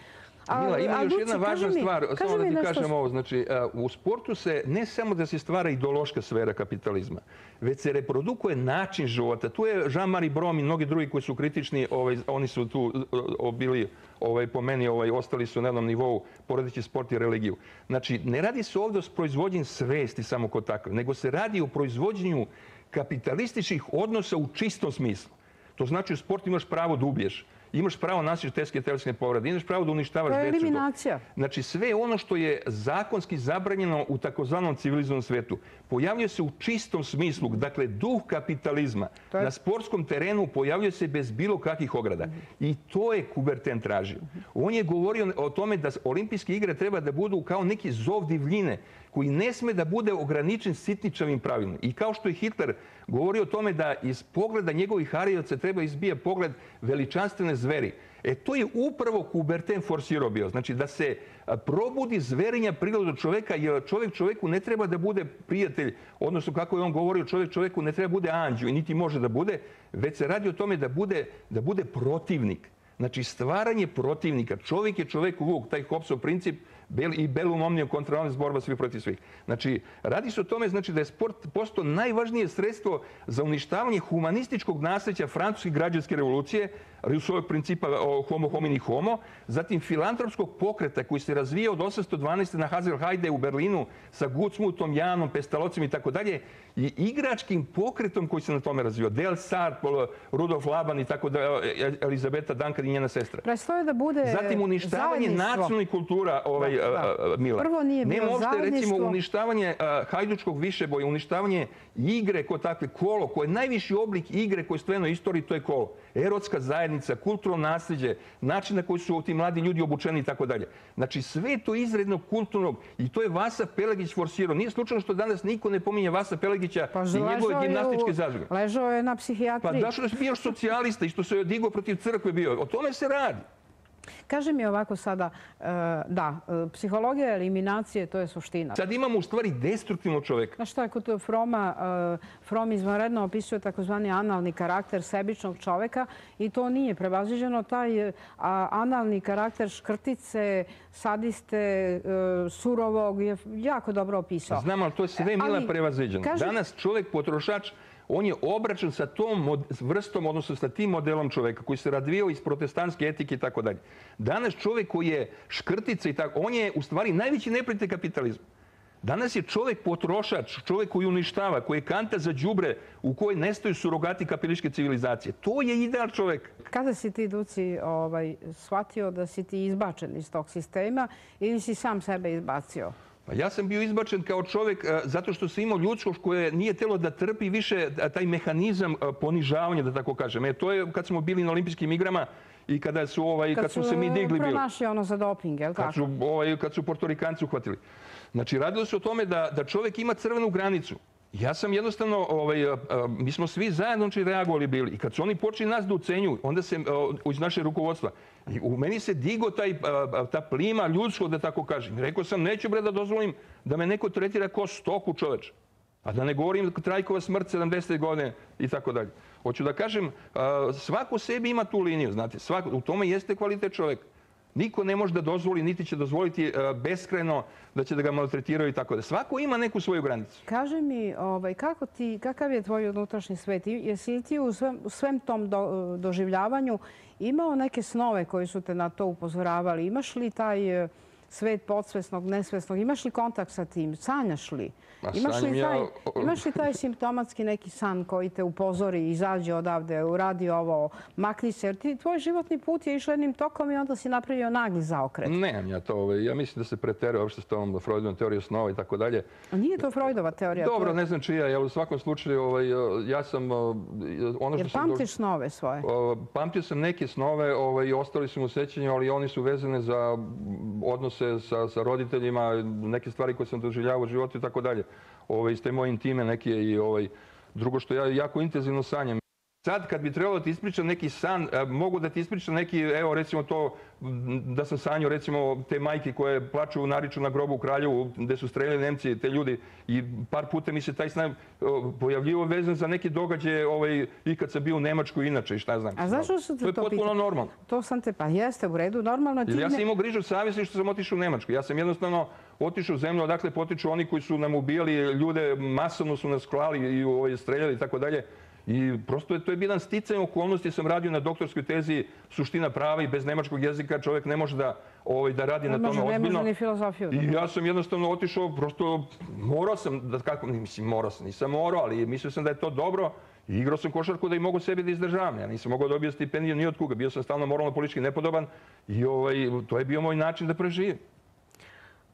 Mila, ima još jedna važna stvar, samo da ti kažem ovo. Znači, u sportu se ne samo da se stvara ideološka sfera kapitalizma, već se reprodukuje način života. Tu je Jean-Marie Brom i mnogi drugi koji su kritični, oni su tu bili po meni, ostali su na jednom nivou poredeći sport i religiju. Znači, ne radi se ovdje o proizvodnji svesti samo kod takve, nego se radi o proizvođenju kapitalističkih odnosa u čistom smislu. To znači u sportu imaš pravo da ubiješ. Imaš pravo nasiš teške telesne povrede, imaš pravo da uništavaš decu. To je eliminacija. Znači, sve ono što je zakonski zabranjeno u takozvanom civilizovanom svetu pojavljuje se u čistom smislu. Dakle, duh kapitalizma na sportskom terenu pojavljuje se bez bilo kakvih ograda. I to je Coubertin tražio. On je govorio o tome da olimpijske igre treba da budu kao neki zov divljine koji ne sme da bude ograničen sitničavim pravilima. I kao što je Hitler govorio o tome da iz pogleda njegovih harijevca treba izbija pogled veličanstvene zveri. E to je upravo Coubertin forsirao bio. Znači da se probudi zverinja priroda čoveka, jer čovjek čovjeku ne treba da bude prijatelj, odnosno kako je on govorio, čovjek čovjeku ne treba bude anđeo i niti može da bude, već se radi o tome da bude, da bude protivnik. Znači, stvaranje protivnika. Čovjek je čovjeku vuk, taj Hobbesov princip, i Bellum omnium contra omnes, borba svih protiv svih. Znači, radi se o tome znači, da je sport postao najvažnije sredstvo za uništavanje humanističkog nasljeđa francuske građanske revolucije, Rousseauovog principa homo homini homo, zatim filantropskog pokreta koji se razvija od osamsto dvanaeste. na Haselheide u Berlinu sa Gutsmutom, Janom, Pestalocem i tako dalje, i igračkim pokretom koji se na tome razvio. Del Sar, Rudolf Laban i tako dalje, Elizabeta Duncan i njena sestra. Prestoje da bude zatim uništavanje nacionalnih kultura, ovaj, da, da. Mila. Prvo nije bilo Nema uopšte, zajedništvo. Recimo, uništavanje uh, hajdučkog višeboja, uništavanje igre kao takve, kolo, koje je najviši oblik igre koji je stvojeno u istoriji, to je kolo. Erotska zajednica, kulturno nasljeđe, način na koji su ti mladi ljudi obučeni i tako dalje. Znači, sve to izrednog kulturnog, i to je Vasa Pelegić forsirao. Nije slučajno što danas niko ne pominje Vasa Pelegića pa, i njegove gimnastičke zadruge. Ležao je na psihijatriji. Pa zašto je bio socijalista i što se je digao protiv crkve bio? O tome se radi. Kaži mi ovako sada, da, psihologija eliminacije, to je suština. Sad imamo u stvari destruktivnog čoveka. Znaš šta je kod Froma, From izvanredno opisuje takozvani analni karakter sebičnog čoveka i to nije prevaziđeno. Taj analni karakter škrtice, sadiste, surovog je jako dobro opisao. Znam, ali to je sve Mila prevaziđeno. Kaži... Danas čovek potrošač, on je obračun sa tom vrstom, odnosno sa tim modelom čoveka koji se razvijao iz protestantske etike i tako dalje. Danas čovek koji je škrtica i tako, on je u stvari najveći neprijatelj kapitalizma. Danas je čovek potrošač, čovek koji uništava, koji je kanta za đubre u kojoj nestaju surogati kapitalističke civilizacije. To je ideal čoveka. Kada si ti, Duci, ovaj, shvatio da si ti izbačen iz tog sistema ili si sam sebe izbacio? Pa ja sam bio izbačen kao čovjek zato što sam imao ljudsko koje nije telo da trpi više taj mehanizam ponižavanja, da tako kažem. E, to je kad smo bili na olimpijskim igrama i kada su, ovaj, kad, kad su se mi digli bili. Kad su pronašli ono za doping, je li tako? Kad su, ovaj, kad su Portorikanci uhvatili. Znači, radilo se o tome da, da čovjek ima crvenu granicu. Ja sam jednostavno, ovaj, mi smo svi zajedno reagovali bili. I kad su oni počeli nas da ucenjuju, onda se iz naše rukovodstva, i u meni se digo taj, ta plima ljudsko, da tako kažem. Rekao sam, neću bre da dozvolim da me neko tretira kao stoku čoveč. A da ne govorim Trajkova smrt sedamdesete godine i tako dalje. Hoću da kažem, svako sebi ima tu liniju, znate. Svako, u tome jeste kvalitet čoveka. Niko ne može da dozvoli, niti će dozvoliti beskrajno da će da ga maltretiraju i tako da. Svako ima neku svoju granicu. Kaži mi, ovaj, kako ti, kakav je tvoj unutrašnji svet? Jesi li ti u svem, u svem tom do, doživljavanju imao neke snove koji su te na to upozoravali? Imaš li taj svet podsvesnog, nesvesnog? Imaš li kontakt sa tim? Sanjaš li? Imaš li, taj, imaš li taj simptomatski neki san koji te upozori, izađe odavde, uradi ovo, makni se? Jer ti, tvoj životni put je išao jednim tokom i onda si napravio nagli zaokret. Nemam ja to. Ja mislim da se preteruje uopšte s tom Freudovom teorijom snova i tako dalje. A nije to Freudova teorija? Dobro, ne znam čija. Ja u svakom slučaju, ovaj, ja sam... Ono što Jer pamtiš snove svoje? Pamtio sam neke snove ovaj, i ostali su mu sećanju, ali oni su vezane za odnose sa, sa roditeljima, neke stvari koje sam doživljavao u životu i tako dalje. Ove, iz te moje intime neke i ovaj, drugo što ja jako intenzivno sanjam. Sad kad bi trebalo da ti ispričam neki san, mogu da ti ispričam neki, evo recimo to da sam sanjao recimo te majke koje plaču, nariču na grobu u Kraljevu gde su streljali Nemci, te ljudi i par puta mi se taj san pojavljivo vezan za neke događaje ovaj, i kad sam bio u Nemačkoj inače i šta znam. A zašto se to pitao? To je potpuno normalno. To sam te, pa jeste u redu, normalno ti... Ja sam imao grižu savjesti što sam otišao u Nemačku. Ja sam jednostavno otišao u zemlju odakle potiču oni koji su nam ubijali ljude, masovno su nas klali i ovaj, streljali i tako dalje. I prosto je, to je jedan sticaj okolnosti. Sam radio na doktorskoj tezi suština prava i bez nemačkog jezika čovjek ne može da, ovaj, da radi ne na tome može, ozbiljno. Ne može ni filozofiju. I ja sam jednostavno otišao, prosto morao sam, da kako, mislim morao sam, nisam morao, ali mislio sam da je to dobro. I igrao sam košarku da i mogu sebi da izdržavam. Ja nisam mogao dobiti stipendiju ni od kuga. Bio sam stalno moralno-politički nepodoban i ovaj, to je bio moj način da preživim.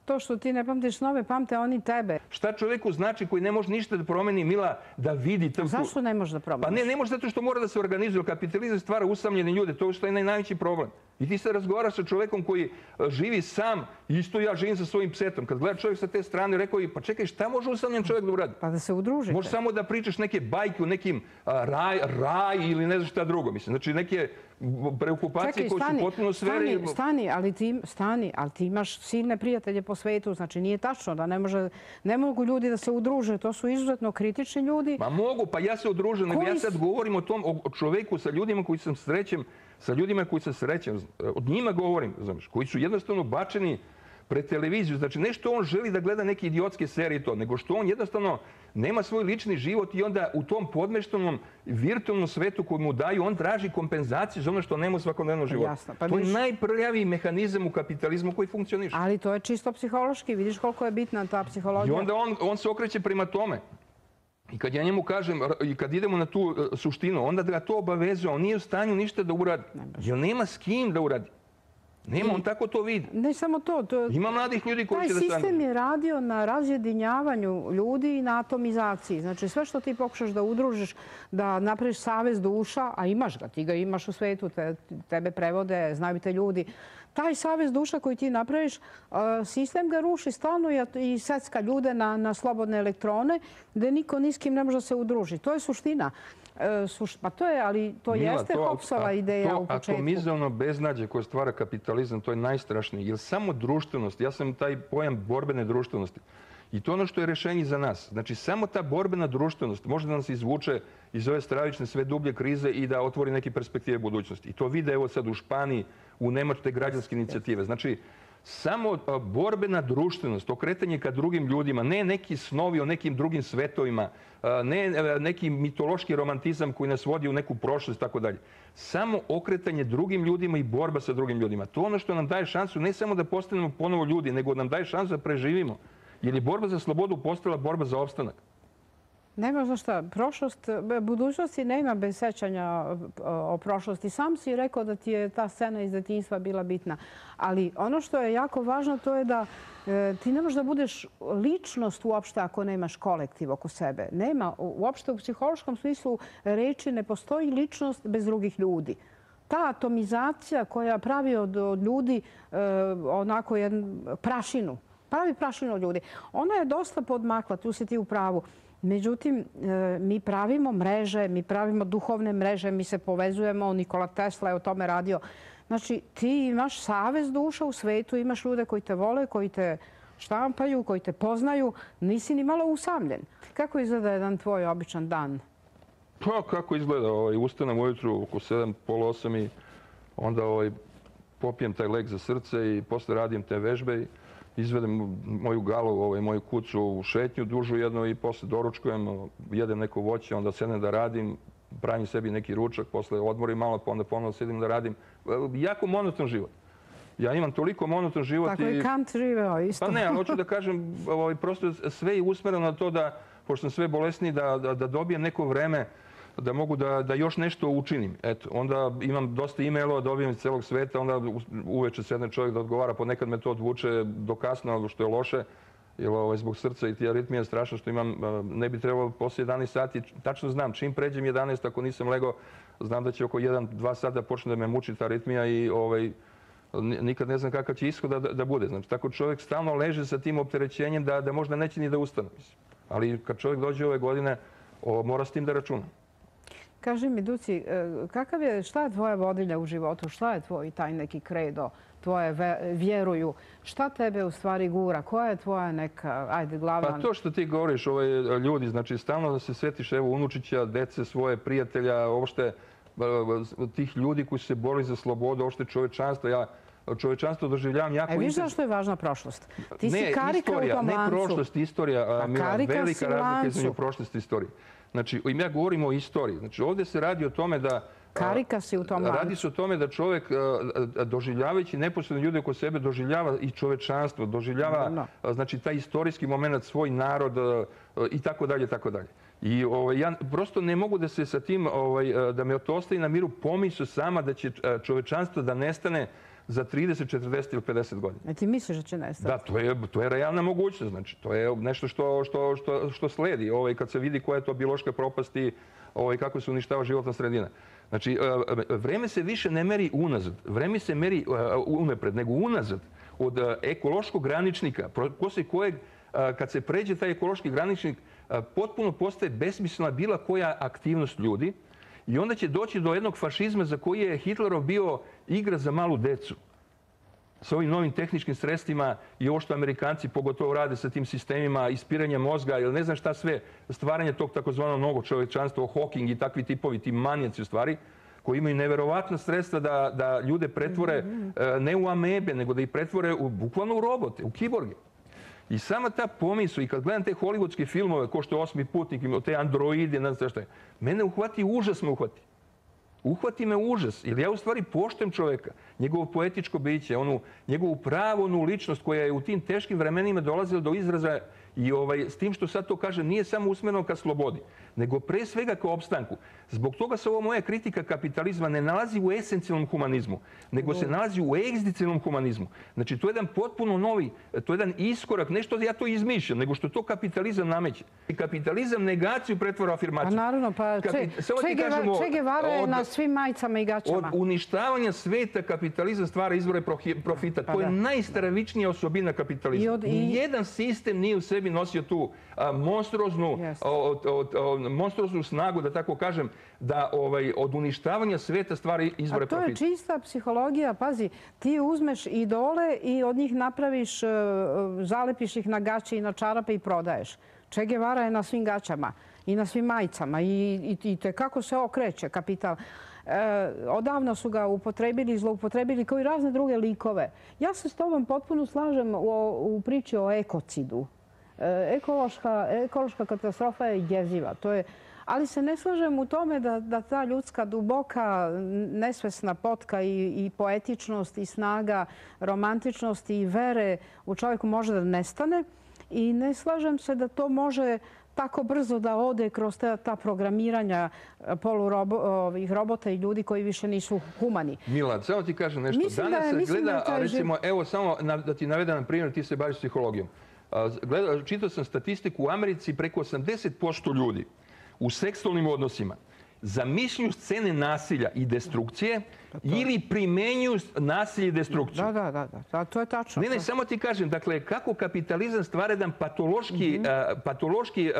To što ti ne pamtiš snove, pamte oni tebe. Šta čovjeku znači koji ne može ništa da promeni, Mila, da vidi... Tam... Zašto ne može da promeniš? Pa ne, ne može zato što mora da se organizuje. Kapitalizam stvara usamljene ljude. To je što je najveći problem. I ti se razgovaraš sa čovjekom koji živi sam, isto ja živim sa svojim psetom. Kad gleda čovjek sa te strane, rekao je, pa čekaj, šta može usamljen čovjek da uradi? Pa da se udružite. Može samo da pričaš neke bajke u nekim a, raj, raj ili ne znam šta drugo. Mislim. Znači neke preokupacije čekaj, koje stani, su potpuno sferi... Stani, stani, ali ti, stani, ali ti imaš silne prijatelje po svetu. Znači nije tačno da ne, može, ne mogu ljudi da se udruže. To su izuzetno kritični ljudi. Ma mogu, pa ja se udružim. Koji... Ja sad govorim o tom o čovjeku sa ljudima koji sam srećem, sa ljudima koji sam srećem. Od njima govorim, znaš, koji su jednostavno bačeni pred televiziju. Znači, ne što on želi da gleda neke idiotske serije i to, nego što on jednostavno nema svoj lični život i onda u tom podmeštenom virtualnom svetu koji mu daju, on traži kompenzaciju za ono što nema u svakodnevnom životu. Jasno, pa to je vidiš- najprljaviji mehanizam u kapitalizmu koji funkcioniše. Ali to je čisto psihološki. Vidiš koliko je bitna ta I psihologija. onda on, on se okreće prema tome. I kad ja njemu kažem, i kad idemo na tu e, suštinu, onda ga to obavezuje. On nije u stanju ništa da uradi. Jer nema s kim da uradi. Nema, on tako to vidi. Ne samo to. to Ima mladih ljudi koji Taj će da stanu. sistem je radio na razjedinjavanju ljudi i na atomizaciji. Znači sve što ti pokušaš da udružiš, da napraviš savez duša, a imaš ga, ti ga imaš u svetu, te, tebe prevode, znaju te ljudi. Taj savez duša koji ti napraviš, sistem ga ruši stalno i secka ljude na, na slobodne elektrone, gde niko ni s kim ne može da se udruži. To je suština. Suš, pa to je, ali to Mila, jeste to- Hobbesova a- ideja u To početku. atomizovno beznađe koje stvara kapitalizam, to je najstrašnije. Jer samo društvenost, ja sam taj pojam borbene društvenosti. I to je ono što je rešenje za nas. Znači, samo ta borbena društvenost može da nas izvuče iz ove stravične sve dublje krize i da otvori neke perspektive budućnosti. I to vide evo sad u Španiji, u Nemačkoj građanske inicijative. Znači, samo a, borbena društvenost, okretanje ka drugim ljudima, ne neki snovi o nekim drugim svetovima, a, ne a, neki mitološki romantizam koji nas vodi u neku prošlost i tako dalje. Samo okretanje drugim ljudima i borba sa drugim ljudima. To je ono što nam daje šansu ne samo da postanemo ponovo ljudi, nego nam daje šansu da preživimo. Jer je borba za slobodu postala borba za opstanak. Nema za šta. Prošlost, budućnosti nema bez sećanja o prošlosti. Sam si rekao da ti je ta scena iz detinjstva bila bitna. Ali ono što je jako važno to je da e, ti ne možeš da budeš ličnost uopšte ako nemaš kolektiv oko sebe. Nema, uopšte u psihološkom smislu reči ne postoji ličnost bez drugih ljudi. Ta atomizacija koja pravi od, od ljudi e, onako jednu prašinu, pravi prašinu od ljudi, ona je dosta podmakla, tu si ti u pravu. Međutim, mi pravimo mreže, mi pravimo duhovne mreže, mi se povezujemo, Nikola Tesla je o tome radio. Znači, ti imaš savez duša u svetu, imaš ljude koji te vole, koji te štampaju, koji te poznaju, nisi ni malo usamljen. Kako izgleda jedan tvoj običan dan? Pa kako izgleda, ovaj, ustanem ujutru oko sedam, pola osam i onda ovaj, popijem taj lek za srce i posle radim te vežbe i izvedem moju galu, ovaj, moju kucu u šetnju dužu jednu i posle doručkujem, jedem neko voće, onda sedem da radim, pravim sebi neki ručak, posle odmorim malo, pa onda ponovno sedim da radim. Jako monoton život. Ja imam toliko monoton život Tako i... i Kant živeo isto. Pa ne, ali hoću da kažem, ovaj, prosto sve je usmereno na to da, pošto sam sve bolesniji, da, da, da dobijem neko vreme da mogu da, da još nešto učinim. Eto, onda imam dosta e-mailova, dobijem iz celog sveta, onda uveče sedne čovjek da odgovara, ponekad me to odvuče do kasno, što je loše, jer ovaj, zbog srca i ti aritmija je strašno što imam, ne bi trebalo posle jedanaest sati, tačno znam, čim pređem jedanaest, ako nisam legao, znam da će oko jedan do dva sata počne da me muči ta aritmija i ovaj, nikad ne znam kakav će ishod da, da bude. Znači, tako čovjek stalno leže sa tim opterećenjem da, da možda neće ni da ustane. Ali kad čovjek dođe ove godine, o, mora s tim da računa. Kaži mi, Duci, kakav je, šta je tvoja vodilja u životu? Šta je tvoj taj neki kredo, tvoje vjeruju? Šta tebe u stvari gura? Koja je tvoja neka, ajde, glavna... Pa to što ti govoriš, ovaj, ljudi, znači stalno da se svetiš evo unučića, dece svoje, prijatelja, uopšte tih ljudi koji su se borili za slobodu, uopšte čovečanstva. Ja čovečanstvo doživljavam jako... E, viš zašto je važna prošlost? Ti si ne, karika istorija, u tom lancu. Ne prošlost, istorija, Mila, velika razlika između prošlosti i istorije. Znači, ja govorim o istoriji. Znači, ovdje se radi o tome da... Karika si u tom lancu. Radi se o tome da čovjek, doživljavajući neposredno ljude oko sebe, doživljava i čovečanstvo, doživljava no. znači, taj istorijski moment, svoj narod i tako dalje, tako dalje. I ovaj, ja prosto ne mogu da se sa tim, ovaj, da me to ostaje na miru pomisao sama da će čovečanstvo da nestane za trideset, četrdeset ili pedeset godina. E ti misliš da će nestati? Da, to je, to je realna mogućnost. Znači, to je nešto što, što, što, što sledi. Ovaj, kad se vidi koja je to biološka propast i ovaj, kako se uništava životna sredina. Znači, vreme se više ne meri unazad. Vreme se meri unapred, nego unazad. Od ekološkog graničnika, posle kojeg, kad se pređe taj ekološki graničnik, potpuno postaje besmislena bila koja aktivnost ljudi. I onda će doći do jednog fašizma za koji je Hitlerov bio igra za malu decu. Sa ovim novim tehničkim sredstvima i ovo što Amerikanci pogotovo rade sa tim sistemima ispiranja mozga ili ne znam šta sve, stvaranje tog takozvanog novog čovečanstva, Hawking i takvi tipovi, ti manijaci u stvari, koji imaju neverovatna sredstva da, da ljude pretvore ne u amebe, nego da ih pretvore u, bukvalno u robote, u kiborge. I sama ta pomisao, i kad gledam te hollywoodske filmove, ko što je Osmi putnik, te androide, ne znam šta je, mene uhvati, užas me uhvati. Uhvati me užas, jer ja u stvari poštujem čoveka, njegovo poetičko biće, onu, njegovu pravu onu ličnost koja je u tim teškim vremenima dolazila do izraza i ovaj, s tim što sad to kažem, nije samo usmereno ka slobodi, nego pre svega ka opstanku. Zbog toga se ova moja kritika kapitalizma ne nalazi u esencijalnom humanizmu, nego se nalazi u egzistencijalnom humanizmu. Znači, to je jedan potpuno novi, to je jedan iskorak, ne što ja to izmišljam, nego što to kapitalizam nameće. I kapitalizam negaciju pretvara u afirmaciju. Pa naravno, pa Che Guevara je na svim majicama i gaćama. Od uništavanja sveta kapitalizam stvara izvore profita. To je najstravičnija osobina kapitalizma. Nijedan sistem nije u sebi nosio tu monstruoznu snagu, da tako kažem, da od uništavanja sveta stvara izvore profita. A to je čista psihologija. Pazi, ti uzmeš idole i od njih napraviš, zalepiš ih na gaće i na čarape i prodaješ. Che Guevara je na svim gaćama i na svim majicama i kako se okreće kapital. Odavno su ga upotrebili, zloupotrebili kao i razne druge likove. Ja se s tobom potpuno slažem u priči o ekocidu. Ekološka katastrofa je jeziva. Ali se ne slažem u tome da ta ljudska duboka, nesvesna potka i poetičnost i snaga, romantičnost i vere u čovjeku može da nestane. I ne slažem se da to može tako brzo da ode kroz ta programiranja polurobota i ljudi koji više nisu humani. Milad, samo ti kažem nešto. Danas se gleda, recimo, evo samo da ti navedem na primjer, ti se baviš psihologijom. Čitao sam statistiku u Americi, preko osamdeset posto ljudi u seksualnim odnosima zamišljuju scene nasilja i destrukcije ili primenjuju nasilje i destrukciju. Da, da, da, to je tačno. Ne, ne, samo ti kažem, dakle, kako kapitalizam stvara jedan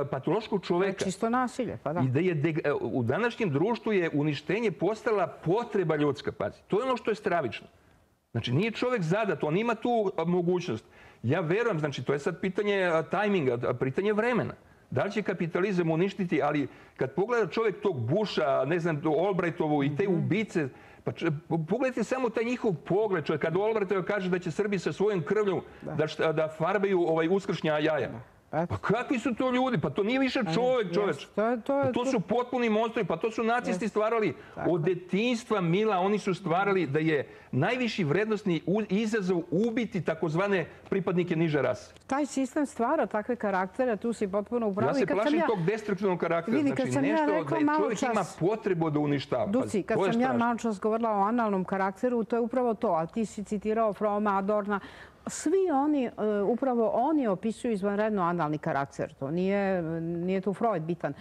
patološkog čoveka. Čisto nasilje, pa da. I da je, u današnjem društvu je uništenje postala potreba ljudska, pazi. To je ono što je stravično. Znači, nije čovek zadat, on ima tu mogućnost. Ja verujem, znači, to je sad pitanje tajminga, pitanje vremena. Da li će kapitalizam uništiti, ali kad pogleda čovjek tog Busha, ne znam, Albrightovu i te ubice, pa pogledajte samo taj njihov pogled. Kad Albright kaže da će Srbi sa svojom krvlju da farbaju uskršnja jaja. Pa kakvi su to ljudi? Pa to nije više čovjek, čoveč. To su potpuni monstri, pa to su nacisti stvarali. Od detinjstva, Mila, oni su stvarali da je najviši vrednostni izazov ubiti takozvane pripadnike niže rase. Taj sistem stvara takve karaktere, tu si potpuno upravo. Ja se plašim tog destruktivnog karaktera. Znači nešto da čovjek ima potrebu da uništava. Duci, kad sam ja malo čas govorila o analnom karakteru, to je upravo to. A ti si citirao Froma, Adorna. Svi oni, upravo oni opisuju izvanredno analni karakter. To nije tu Freud bitan.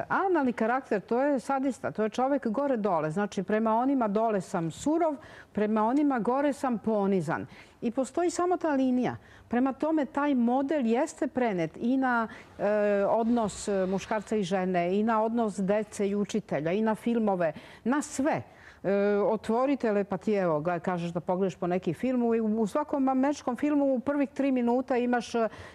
Analni karakter, to je sadista, to je čovjek gore-dole. Znači, prema onima dole sam surov, prema onima gore sam ponizan. I postoji samo ta linija. Prema tome, taj model jeste prenet i na odnos muškarca i žene, i na odnos dece i učitelja, i na filmove, na sve. Otvori telepatijevo, kažeš da pogledaš po neki film i u svakom američkom filmu u prvih tri minuta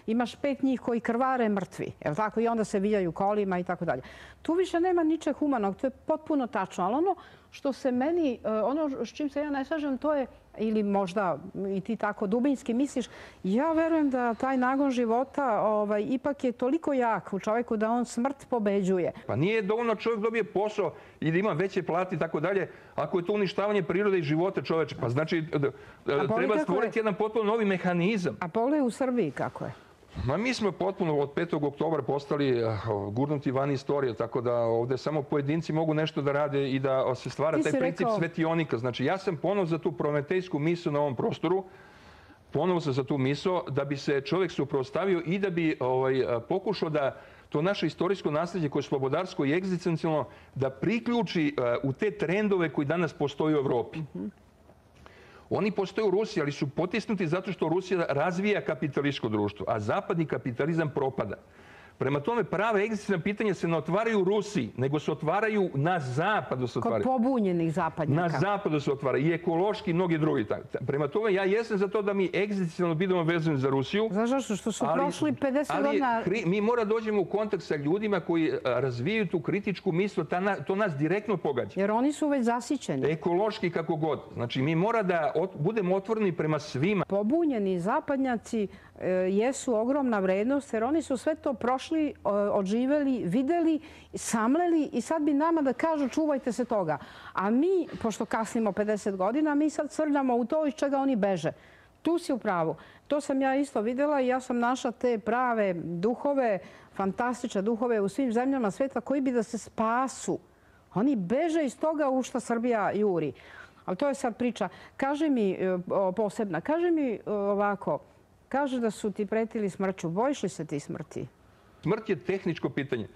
imaš pet njih koji krvare mrtvi. I onda se vijaju kolima i tako dalje. Tu više nema ničeg humanog, to je potpuno tačno. Ali ono što se meni, ono s čim se ja ne slažem, to je, ili možda i ti tako dubinski misliš, ja verujem da taj nagon života ipak je toliko jak u čovjeku da on smrt pobeđuje. Pa nije dovoljno čovjek dobije posao i da ima veće plate i tako dalje, ako je to uništavanje prirode i života čoveče. Pa znači, treba stvoriti jedan potpuno novi mehanizam. A pogledaj u Srbiji kako je? Ma mi smo potpuno od petog oktobra postali gurnuti van istorije, tako da ovdje samo pojedinci mogu nešto da rade i da se stvara taj princip svetionika. Znači, ja sam ponovo za tu prometejsku misu na ovom prostoru, ponovo sam za tu misu da bi se čovjek suprotstavio i da bi pokušao da to naše istorijsko nasljeđe koje je slobodarsko i egzistencijalno da priključi u te trendove koji danas postoje u Evropi. Oni postoje u Rusiji, ali su potisnuti zato što Rusija razvija kapitalističko društvo, a zapadni kapitalizam propada. Prema tome, prave egzistencijalna pitanja se ne otvaraju u Rusiji, nego se otvaraju na zapadu. Se Kod pobunjenih zapadnjaka. Na zapadu se otvaraju i ekološki i mnogi drugi. Prema tome, ja jesam za to da mi egzistencijalno budemo vezani za Rusiju. Znaš zašto? Što su prošli pedeset godina... Ali mi mora dođemo u kontakt sa ljudima koji razvijaju tu kritičku misl, to nas direktno pogađa. Jer oni su već zasićeni. Ekološki kako god. Znači, mi mora da budemo otvoreni prema svima. Pobunjeni zapadnjaci jesu ogromna vrednost, jer oni su sve to prošli, odživeli, videli, samleli i sad bi nama da kažu čuvajte se toga. A mi, pošto kasnimo pedeset godina, mi sad srljamo u to iz čega oni beže. Tu si u pravu. To sam ja isto videla i ja sam našla te prave duhove, fantastične duhove u svim zemljama sveta koji bi da se spasu. Oni beže iz toga u što Srbija juri. Ali to je sad priča. Kaže mi posebna, kaže mi ovako, kaže da su ti pretili smrću. Bojiš li se ti smrti? Smrt je tehničko pitanje.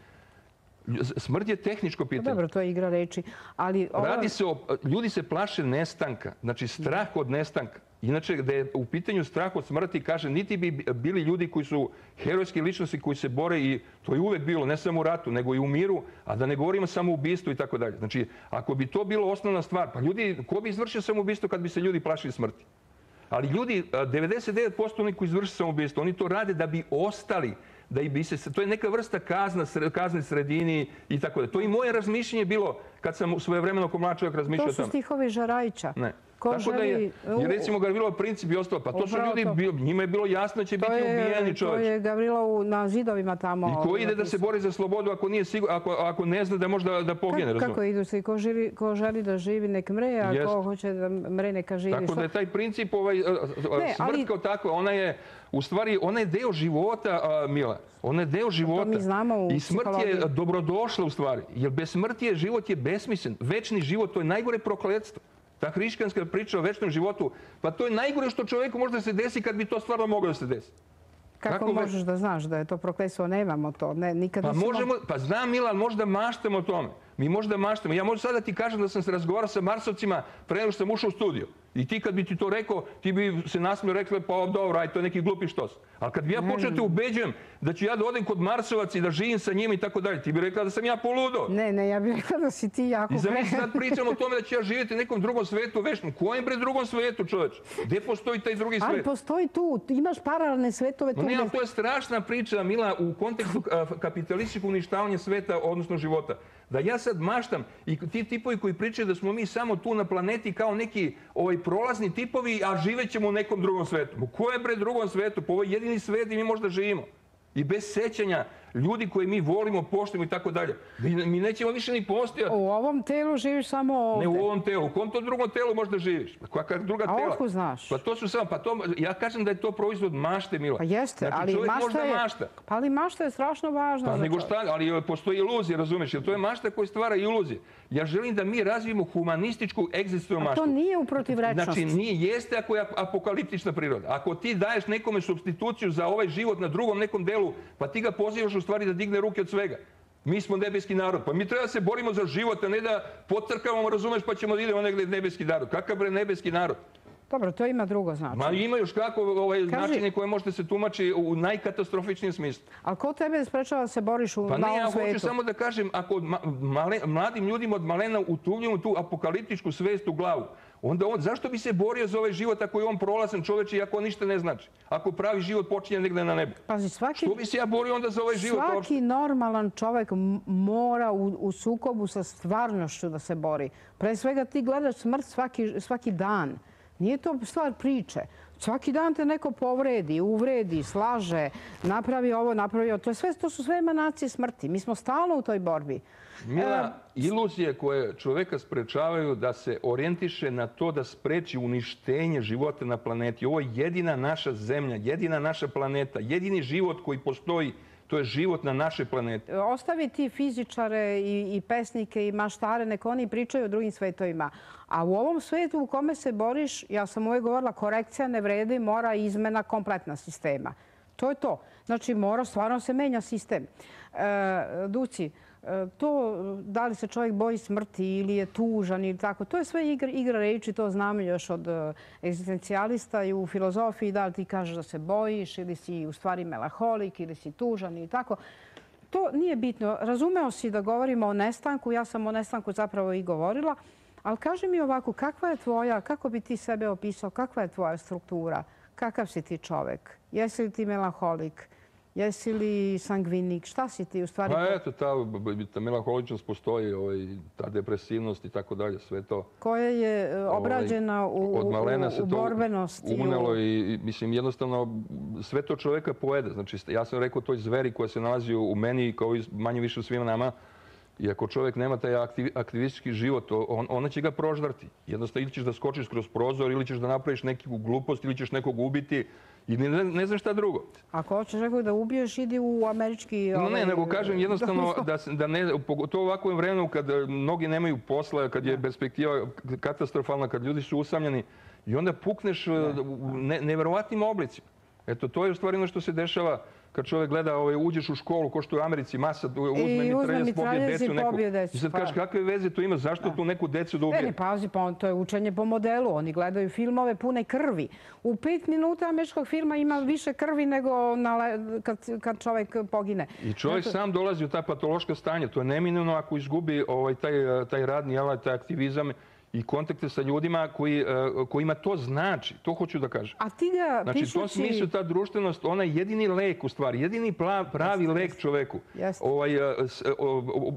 Smrt je tehničko pitanje. Dobro, to je igra reči. Ali Radi se o... Ljudi se plaše nestanka. Znači, strah od nestanka. Inače, da je u pitanju strah od smrti, kaže, niti bi bili ljudi koji su herojske ličnosti koji se bore i to je uvek bilo, ne samo u ratu, nego i u miru, a da ne govorimo samo o ubistvu i tako dalje. Znači, ako bi to bilo osnovna stvar, pa ljudi, ko bi izvršio samoubistvo kad bi se ljudi plašili smrti? Ali ljudi, devedeset devet posto oni koji izvrše samoubistvo, oni to rade da bi ostali, da bi se, to je neka vrsta kazna, kazne sredini i tako da. To i moje razmišljenje bilo kad sam svojevremeno ko mlad čovjek razmišljao o tome. To su stihovi Žarajića. Ne. Tako da je, jer recimo Gavrilov princip i ostalo, pa to su ljudi, njima je bilo jasno da će biti ubijeni čovječ. To je Gavrilov na zidovima tamo. I ko ide da se bori za slobodu ako ne zna da može da pogine, razumije? Kako idu se? Ko želi da živi nek mre, a ko hoće da mre neka živi. Tako da je taj princip, smrt kao takva, ona je, u stvari, ona je deo života, Mila. Ona je deo života. I smrt je dobrodošla u stvari. Jer bez smrti život je besmislen. Večni život, to je najgore prokletstvo. Ta hrišćanska priča o večnom životu, pa to je najgore što čovjeku može da se desi kad bi to stvarno moglo da se desi. Kako možeš da znaš da je to prokletstvo? Nemamo to. Pa možemo, pa znam Mila, ali možda maštamo o tome. Mi možda maštamo. Ja možda sada ti kažem da sam se razgovarao sa Marsovcima pre nego što sam ušao u studio. I ti kad bi ti to rekao, ti bi se nasmio rekli, pa dobro, aj, to je neki glupi štos. Ali kad bi ja počeo te ubeđujem da ću ja da odem kod Marsovac i da živim sa njima i tako dalje, ti bi rekla da sam ja poludo. Ne, ne, ja bih rekla da si ti jako... I za mi sad pričam o tome da ću ja živjeti u nekom drugom svetu večnom. Kojem bre drugom svetu, čoveč? Gde postoji taj drugi svet? Ali postoji tu. Imaš paralelne svetove tu. Ne, ali to je strašna priča, Mila, u kontekstu kapitalističkog uništavanja sveta, odnosno života. Da ja sad maštam i ti tipovi koji pričaju da smo mi samo tu na planeti kao neki prolazni tipovi, a živećemo u nekom drugom svetu. U kojem bre drugom svetu? Po ovoj jedini svet i mi možda živimo. I bez sećanja ljudi koje mi volimo, poštujemo i tako dalje. Mi nećemo više ni postojati. U ovom telu živiš samo ovdje. Ne u ovom telu. U kom to drugom telu možda živiš? Kakva druga tela? A otkud znaš? Pa to su samo, pa to, ja kažem da je to proizvod mašte, Mila. Pa jeste, ali mašta je... Pa ali mašta je strašno važna. Pa nego šta, ali postoji iluzija, razumiješ? Jer to je mašta koja stvara iluzije. Ja želim da mi razvijemo humanističku egzistencijalnu maštu. A to nije u protivrečnosti. Znači, nije, jeste ako je apokaliptična priroda. Ako ti daješ nekome supstituciju za ovaj život na drugom nekom delu, pa ti ga pozivaš u stvari da digne ruke od svega. Mi smo nebeski narod. Pa mi treba da se borimo za život, a ne da potrkavamo, razumeš, pa ćemo da idemo negdje nebeski narod. Kakav bre nebeski narod? Dobro, to ima drugo značenje. Ma ima još kako načine koje možete se tumači u najkatastrofičnijem smislu. Ali ko tebe sprečava da se boriš u malom svetu? Pa ne, ja hoću samo da kažem, ako mladim ljudima od malena utuvljamo tu apokaliptičku svest u glavu, onda on, zašto bi se borio za ovaj život ako je on prolazan čoveč i ako on ništa ne znači? Ako pravi život počinje negde na nebu. Pazi, svaki... Što bi se ja borio onda za ovaj život? Svaki normalan čovek mora u sukobu sa stvarnošću da se bori. Pre svega ti gledaš smrt svaki dan. Nije to stvar priče. Svaki dan te neko povredi, uvredi, slaže, napravi ovo, napravi ovo. To su sve emanacije smrti. Mi smo stalno u toj borbi. Mila, iluzije koje čoveka sprečavaju da se orijentiše na to da spreči uništenje života na planeti. Ovo je jedina naša zemlja, jedina naša planeta, jedini život koji postoji. To je život na našoj planeti. Ostavi ti fizičare i pesnike i maštare, neko oni pričaju o drugim svetovima. A u ovom svetu u kome se boriš, ja sam uvijek govorila, korekcija ne vredi, mora izmena kompletna sistema. To je to. Znači, mora stvarno se menja sistem. Duci, To, da li se čovjek boji smrti ili je tužan ili tako, to je sve igra, igra reči, to znamo još od egzistencijalista i u filozofiji, da li ti kažeš da se bojiš ili si u stvari melanholik ili si tužan ili tako. To nije bitno. Razumeo si da govorimo o nestanku, ja sam o nestanku zapravo i govorila, ali kaži mi ovako, kakva je tvoja, kako bi ti sebe opisao, kakva je tvoja struktura, kakav si ti čovjek, jesi li ti melanholik? Jesi li sangvinik? Šta si ti u stvari? Pa eto, ta, ta melanholičnost postoji, ovaj, ta depresivnost i tako dalje, sve to. Koja je obrađena u, od malena se u borbenosti. Unelo i, mislim, jednostavno sve to čovjeka pojede. Znači, ja sam rekao toj zveri koja se nalazi u meni, kao i manje više u svima nama, i ako čovjek nema taj aktiv, aktivistički život, on, ona će ga proždarti. Jednostavno, ili ćeš da skočiš kroz prozor, ili ćeš da napraviš neku glupost, ili ćeš nekog ubiti, i ne, ne znam šta drugo. Ako hoćeš nekog da ubiješ, idi u američki... Ovaj... Ne, nego kažem jednostavno da, da ne, pogotovo u ovakvom vremenu kad mnogi nemaju posla, kad je perspektiva katastrofalna, kad ljudi su usamljeni i onda pukneš u ne, neverovatnim oblicima. Eto, to je u stvari ono što se dešava kad čovjek gleda, ovaj, uđeš u školu, ko što je u Americi, masa, uzme mitraljez, pobije decu. I sad kažeš, kakve veze to ima, zašto tu neku decu da ubije? Ne, ne, pazi, pa to je učenje po modelu. Oni gledaju filmove pune krvi. U pet minuta američkog filma ima više krvi nego na, kad, kad čovjek pogine. I čovjek sam dolazi u ta patološka stanja. To je neminovno ako izgubi ovaj, taj, taj radni alat, taj aktivizam i kontakte sa ljudima koji, kojima to znači. To hoću da kažem. A ti ga znači, pišući... u tom smislu ta društvenost, ona je jedini lek u stvari, jedini pravi Jeste, lek čoveku. Ovaj,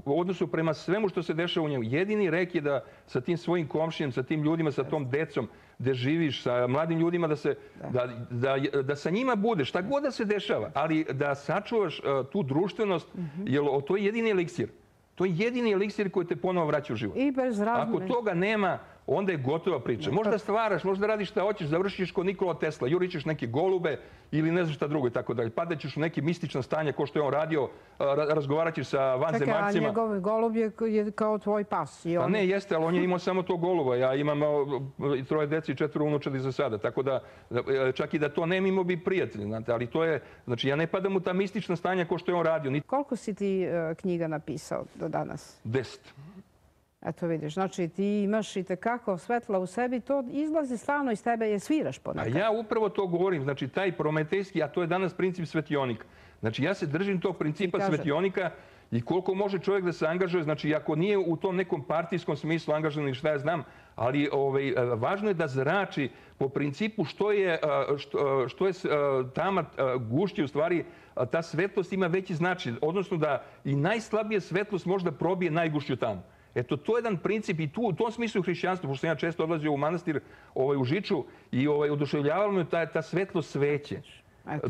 u odnosu prema svemu što se dešava u njemu. Jedini lek je da sa tim svojim komšijem, sa tim ljudima, sa tom decom, gde živiš, sa mladim ljudima, da, se, da. Da, da, da sa njima budeš, šta god da se dešava, ali da sačuvaš tu društvenost, mm-hmm. jer to je jedini eliksir. To je jedini eliksir koji te ponovo vraća u život. I bez razmene. Ako toga nema, onda je gotova priča. Možda stvaraš, možda radiš šta hoćeš, završiš kod Nikola Tesla, jurićeš neke golube ili ne znam šta drugo i tako dalje. Padaćeš u neke mistična stanja ko što je on radio, razgovarat ćeš sa vanzemaljcima. Čekaj, a njegov golub je kao tvoj pas. I on... Pa ne, jeste, ali on je imao samo to goluba. Ja imam troje deci i četvoro unučadi za sada. Tako da, čak i da to ne imao bi prijatelji. Znate, ali to je, znači ja ne padam u ta mistična stanja ko što je on radio. Koliko si ti knjiga napisao do danas? Deset. Eto vidiš, znači ti imaš i tekako svetla u sebi, to izlazi stalno iz tebe, je sviraš ponekad. A ja upravo to govorim, znači taj prometejski, a to je danas princip svetionika. Znači ja se držim tog principa svetionika i koliko može čovjek da se angažuje, znači ako nije u tom nekom partijskom smislu angažovan, šta ja znam, ali ovaj, važno je da zrači po principu što je, što, što je tama gušće, u stvari ta svetlost ima veći značaj, odnosno da i najslabije svetlost možda probije najgušću tamu. Eto, to je jedan princip i tu, u tom smislu hrišćanstva, pošto sam ja često odlazio u manastir ovaj, u Žiču i ovaj, oduševljavalo me ta, ta svetlost sveće.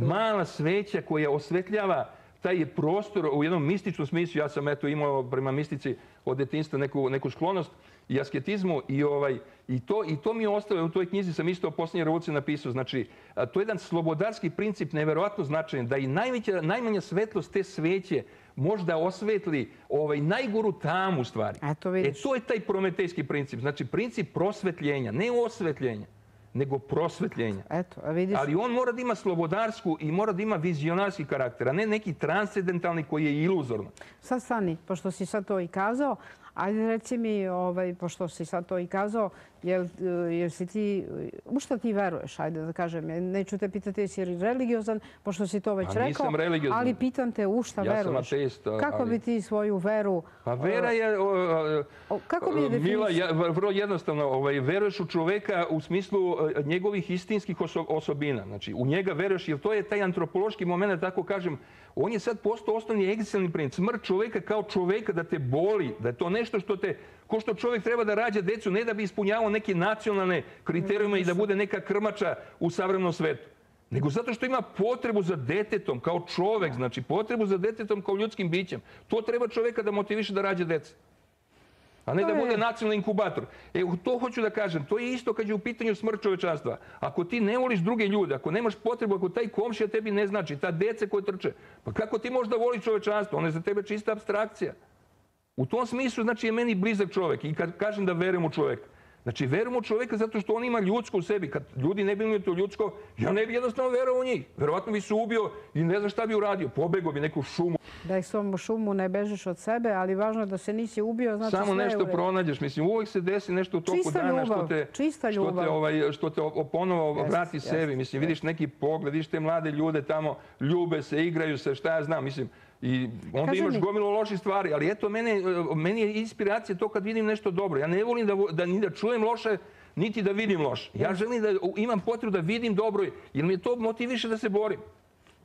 Mala sveća koja osvetljava taj prostor u jednom mističnom smislu. Ja sam eto, imao prema mistici od detinjstva neku, neku sklonost i asketizmu i, ovaj, i, to, i to mi je ostalo. U toj knjizi sam isto o posljednje revolucije napisao. Znači, to je jedan slobodarski princip neverovatno značajan, da i najveća, najmanja svetlost te sveće možda osvetli ovaj, najgoru tamu stvari. Eto, e, to je taj prometejski princip. Znači, princip prosvetljenja, ne osvetljenja, nego prosvetljenja. Eto, a vidiš... Ali on mora da ima slobodarsku i mora da ima vizionarski karakter, a ne neki transcendentalni koji je iluzorno. Sad stani, pošto si sad to i kazao, ajde reci mi, ovaj, pošto si sad to i kazao, jel, jel si ti, u šta ti veruješ, ajde da kažem, neću te pitati jesi li religiozan, pošto si to već rekao, nisam religiozan. Ali pitam te u šta veruješ. Ja sam ateist. Kako ali... bi ti svoju veru... Pa vera je, o, o, kako bi je definisao? Mila, ja, vrlo jednostavno, ovaj, veruješ u čoveka u smislu njegovih istinskih oso, osobina. Znači, u njega veruješ, jer to je taj antropološki moment, tako kažem, on je sad postao osnovni egzistencijalni princip. Smrt čoveka kao čoveka da te boli, da je to nešto što te... Ko što čovjek treba da rađa decu, ne da bi ispunjavao neke nacionalne kriterijume i da bude neka krmača u savremenom svetu, nego zato što ima potrebu za detetom kao čovjek, znači potrebu za detetom kao ljudskim bićem. To treba čovjeka da motiviše da rađa deca, a ne da bude nacionalni inkubator. E, to hoću da kažem, to je isto kad je u pitanju smrt čovečanstva. Ako ti ne voliš druge ljude, ako nemaš potrebu, ako taj komšija tebi ne znači, ta deca koje trče, pa kako ti možeš da voliš čovečanstvo? Ono je za tebe čista apstrakcija. U tom smislu, znači, je meni blizak čovjek i kad kažem da verujem u čovjeka. Znači, verujem u čoveka zato što on ima ljudsko u sebi. Kad ljudi ne bi imali to ljudsko, ja ne bi jednostavno verovao u njih. Verovatno bi se ubio i ne znam šta bi uradio. Pobegao bi neku šumu. Da ih svom šumu ne bežeš od sebe, ali važno je da se nisi ubio, znači sve je u redu. Samo nešto pronađeš. Mislim, uvijek se desi nešto u toku dana što te, što te, ovaj, što te ponovo vrati sebi. Mislim, vidiš neki pogled, vidiš te mlade ljude tamo, ljube se, igraju se, šta ja znam. Mislim, i onda imaš gomilu loših stvari. Ali eto, mene, meni je inspiracija to kad vidim nešto dobro. Ja ne volim da, da ni da čujem loše, niti da vidim loše. Ja želim da imam potrebu da vidim dobro, jer mi je to motiviše da se borim.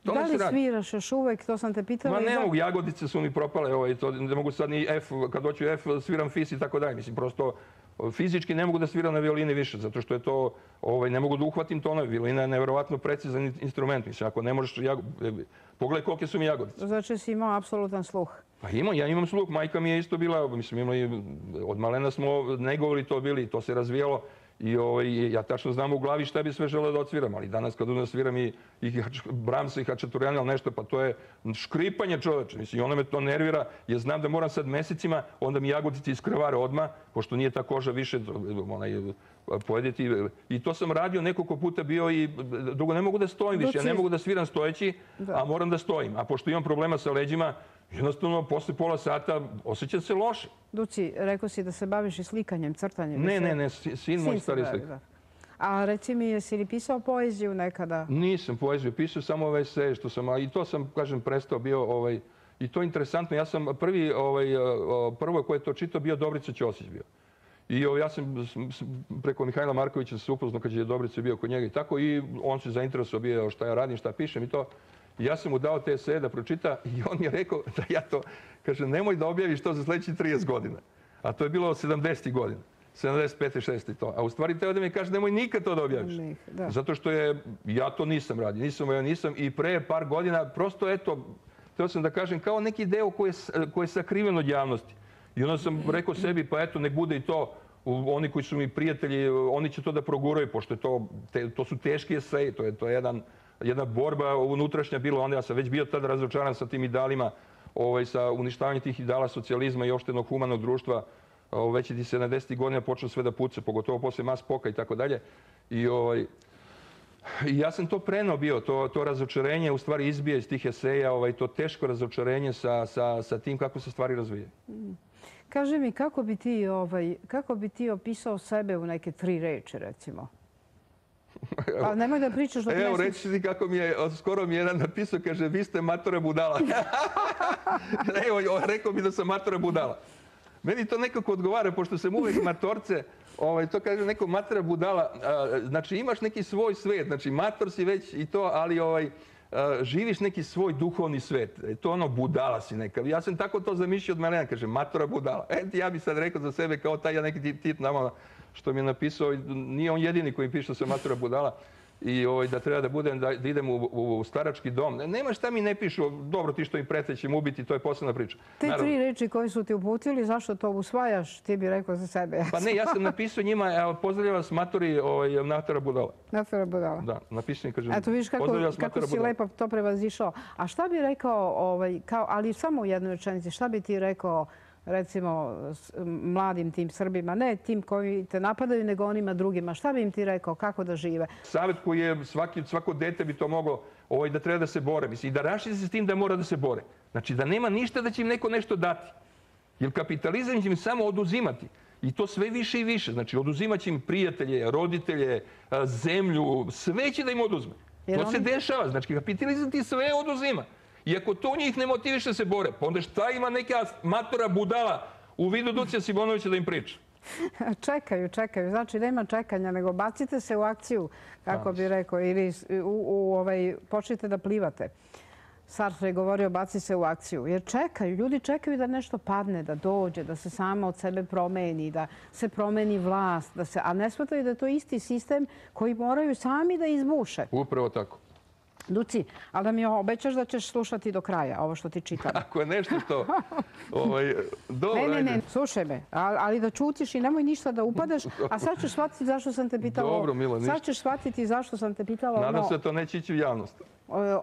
Da li sviraš još uvek? To sam te pitala. Ma ne mogu, jagodice su mi propale. Ne mogu sad ni F, kad doću F, sviram fis i tako dalje. Mislim, prosto fizički ne mogu da sviram na violini više, zato što je to, ne mogu da uhvatim tonove. Violina je nevjerovatno precizan instrument. Mislim, ako ne možeš, pogledaj kolike su mi jagodice. Znači si imao apsolutan sluh. Pa imam, ja imam sluh. Majka mi je isto bila, mislim, imali, od malena smo negovali to bili, to se razvijalo. I ja tačno znam u glavi šta bi sve želeo da odsviram, ali danas kad onda sviram i Brahmsa i Hačaturjana ili nešto, pa to je škripanje čoveče. Mislim, i ono me to nervira, jer znam da moram sad mesecima, onda mi jagodice iskrvare odmah, pošto nije ta koža više pojediti. I to sam radio nekoliko puta bio i dugo ne mogu da stojim više. Ja ne mogu da sviram stojeći, a moram da stojim. A pošto imam problema sa leđima, jednostavno, posle pola sata osjećam se loše. Duci, rekao si da se baviš i slikanjem, crtanjem. Ne, ne, ne, sin moj stari slika. A reci mi, jesi li pisao poeziju nekada? Nisam poeziju, pisao samo ove eseje što sam, i to sam, kažem, prestao bio, i to je interesantno. Ja sam prvi, prvo koje je to čitao bio Dobrica Ćosić bio. I ja sam preko Mihajla Markovića se upoznao kad je Dobrica bio kod njega i tako, i on se zainteresovao bio šta ja radim, šta pišem i to. Ja sam mu dao te eseje da pročita i on mi je rekao da ja to, kaže, nemoj da objaviš to za sljedećih trideset godina. A to je bilo sedamdesetih godina. sedamdeset pete, šeste i to. A u stvari teo da mi kaže, nemoj nikad to da objaviš. Zato što je, ja to nisam radio, nisam, ja nisam i pre par godina, prosto eto, teo sam da kažem, kao neki deo koji je sakriven od javnosti. I onda sam rekao sebi, pa eto, nek bude i to, oni koji su mi prijatelji, oni će to da proguraju, pošto to su teški eseji, to je jedan... jedna borba unutrašnja bila, onda ja sam već bio tada razočaran sa tim idealima, sa uništavanjem tih ideala socijalizma i opštenog humanog društva. Već je sedamdesetih godina počeo sve da puca, pogotovo posle Mas Poka i tako dalje. I ja sam to prenao bio, to razočarenje u stvari izbija iz tih eseja, to teško razočarenje sa tim kako se stvari razvije. Kaži mi, kako bi ti opisao sebe u neke tri reči, recimo? Pa nemoj da pričaš dok ne... Evo, reći ti kako mi je, skoro mi je jedan napisao, kaže, vi ste matora budala. Evo, rekao mi da sam matora budala. Meni to nekako odgovara, pošto sam uvek matorce, to kaže neko matora budala. Znači, imaš neki svoj svet, znači, mator si već i to, ali živiš neki svoj duhovni svet. To ono, budala si neka. Ja sam tako to zamišljao od malena, kaže, matora budala. Eto, ja bih sad rekao za sebe kao taj neki tit nama, što mi je napisao, nije on jedini koji piše da sam matora budala i da treba da budem, da idem u starački dom. Nema šta mi ne pišu, dobro ti što im prete će mu ubiti, to je posebna priča. Te tri reči koje su ti uputili, zašto to usvajaš, ti bi rekao za sebe. Pa ne, ja sam napisao njima, pozdravljam vas matori matora budala. Matora budala. Da, napisao im, kažem, pozdravljam vas matora budala. Eto vidiš kako si lepo to prevazišao. A šta bi rekao, ali samo u jednoj rečenici, šta bi ti rekao, recimo, mladim tim Srbima, ne tim koji te napadaju, nego onima drugima. Šta bi im ti rekao, kako da žive? Savjet koji je, svako dete bi to moglo, da treba da se bore. I da raširi se s tim da mora da se bore. Znači, da nema ništa da će im neko nešto dati. Jer kapitalizam će im samo oduzimati. I to sve više i više. Znači, oduzimat će im prijatelje, roditelje, zemlju, sve će da im oduzme. To se dešava. Znači, kapitalizam ti sve oduzima. I ako to njih ne motiviše da se bore, pa onda šta ima neka matora budala u vidu Ducija Simonovića da im priča? Čekaju, čekaju. Znači, nema čekanja, nego bacite se u akciju, kako bi rekao, ili počnite da plivate. Sartre je govorio, baci se u akciju. Jer čekaju, ljudi čekaju da nešto padne, da dođe, da se sama od sebe promeni, da se promeni vlast, a ne shvataju da je to isti sistem koji moraju sami da izbuše. Upravo tako. Duci, ali da mi obećaš da ćeš slušati do kraja ovo što ti čitam. Ako je nešto što... Dobro, ajde. Ne, ne, ne, slušaj me, ali da čutiš i nemoj ništa da upadaš, a sad ćeš shvatiti zašto sam te pitala... Dobro, Milo, ništa. Sad ćeš shvatiti zašto sam te pitala ono... Nadam se da to neće ići u javnost.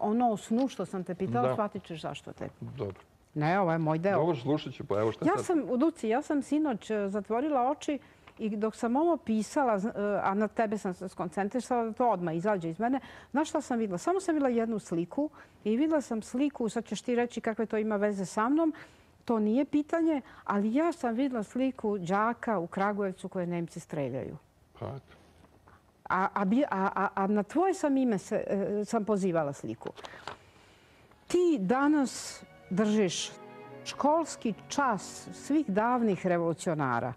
Ono o snu što sam te pitala, shvatit ćeš zašto te. Dobro. Ne, ovo je moj deo. Dobro, slušat ću, pa evo šta sad. Ja sam, Duci, ja sam sinoć zatvorila oči I dok sam ovo pisala, a na tebe sam se skoncentrisala, da to odmah izađe iz mene, znaš šta sam videla? Samo sam videla jednu sliku i videla sam sliku, sad ćeš ti reći kakve to ima veze sa mnom, to nije pitanje, ali ja sam videla sliku đaka u Kragujevcu koje Nemci streljaju. Pa, A, a, a, a na tvoje sam ime se, sam pozivala sliku. Ti danas držiš školski čas svih davnih revolucionara,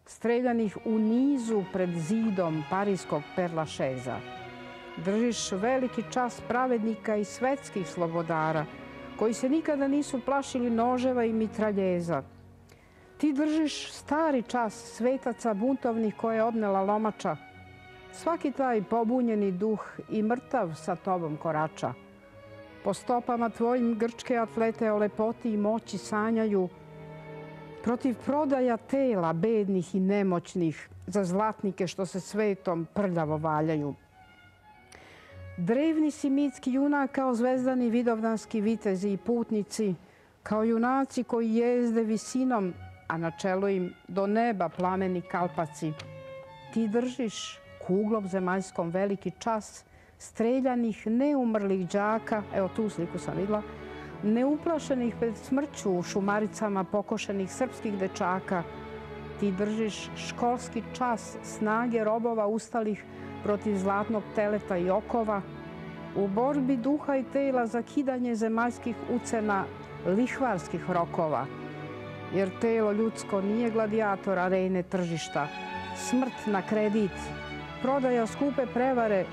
streljanih u nizu pred zidom parijskog Père Lachaise. Držiš veliki čas pravednika i svetskih slobodara, koji se nikada nisu plašili noževa i mitraljeza. Ti držiš stari čas svetaca buntovnih koje je odnela lomača. Svaki taj pobunjeni duh i mrtav sa tobom korača. Po stopama tvojim grčke atlete o lepoti i moći sanjaju, protiv prodaja tela bednih i nemoćnih za zlatnike što se svetom prljavo valjaju. Drevni si mitski junak kao zvezdani vidovdanski vitezi i putnici, kao junaci koji jezde visinom, a na čelu im do neba plameni kalpaci. Ti držiš kuglom zemaljskom veliki čas streljanih neumrlih đaka, evo tu sliku sam vidjela, neuplašenih pred smrću u šumaricama pokošenih srpskih dečaka. Ti držiš školski čas snage robova ustalih protiv zlatnog teleta i okova, u borbi duha i tela za kidanje zemaljskih ucena lihvarskih rokova. Jer telo ljudsko nije gladijator arene tržišta, smrt na kredit, prodaja skupe prevare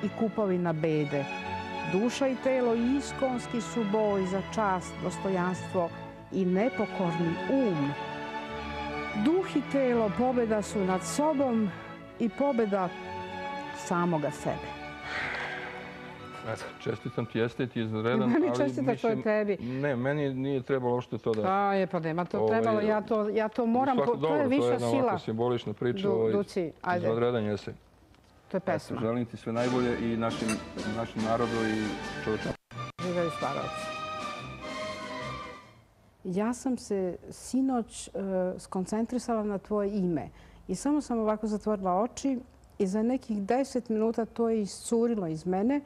i kupovina bede. Duša i telo iskonski su boj za čast, dostojanstvo i nepokorni um. Duh i telo pobjeda su nad sobom i pobjeda samoga sebe. Čestitam ti, jeste ti izredan. Meni čestita to je tebi. Ne, meni nije trebalo što to da... A je, pa nema to trebalo. Ja to moram, to je viša sila. To je jedna ovako simbolična priča. Duci, ajde. Izredan jesi. To je pesma. Želim ti sve najbolje i našem narodu i čovječanstvu. Živjeli stvaravci. Ja sam se sinoć skoncentrisala na tvoje ime i samo sam ovako zatvorila oči i za nekih deset minuta to je iscurilo iz mene,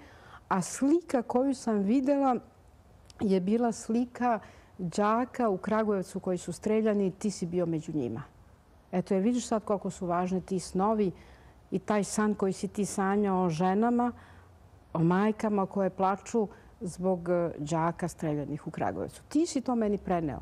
a slika koju sam vidjela je bila slika đaka u Kragujevcu koji su streljani i ti si bio među njima. Eto je, vidiš sad koliko su važni ti snovi i taj san koji si ti sanjao o ženama, o majkama koje plaču zbog đaka streljanih u Kragujevcu. Ti si to meni preneo.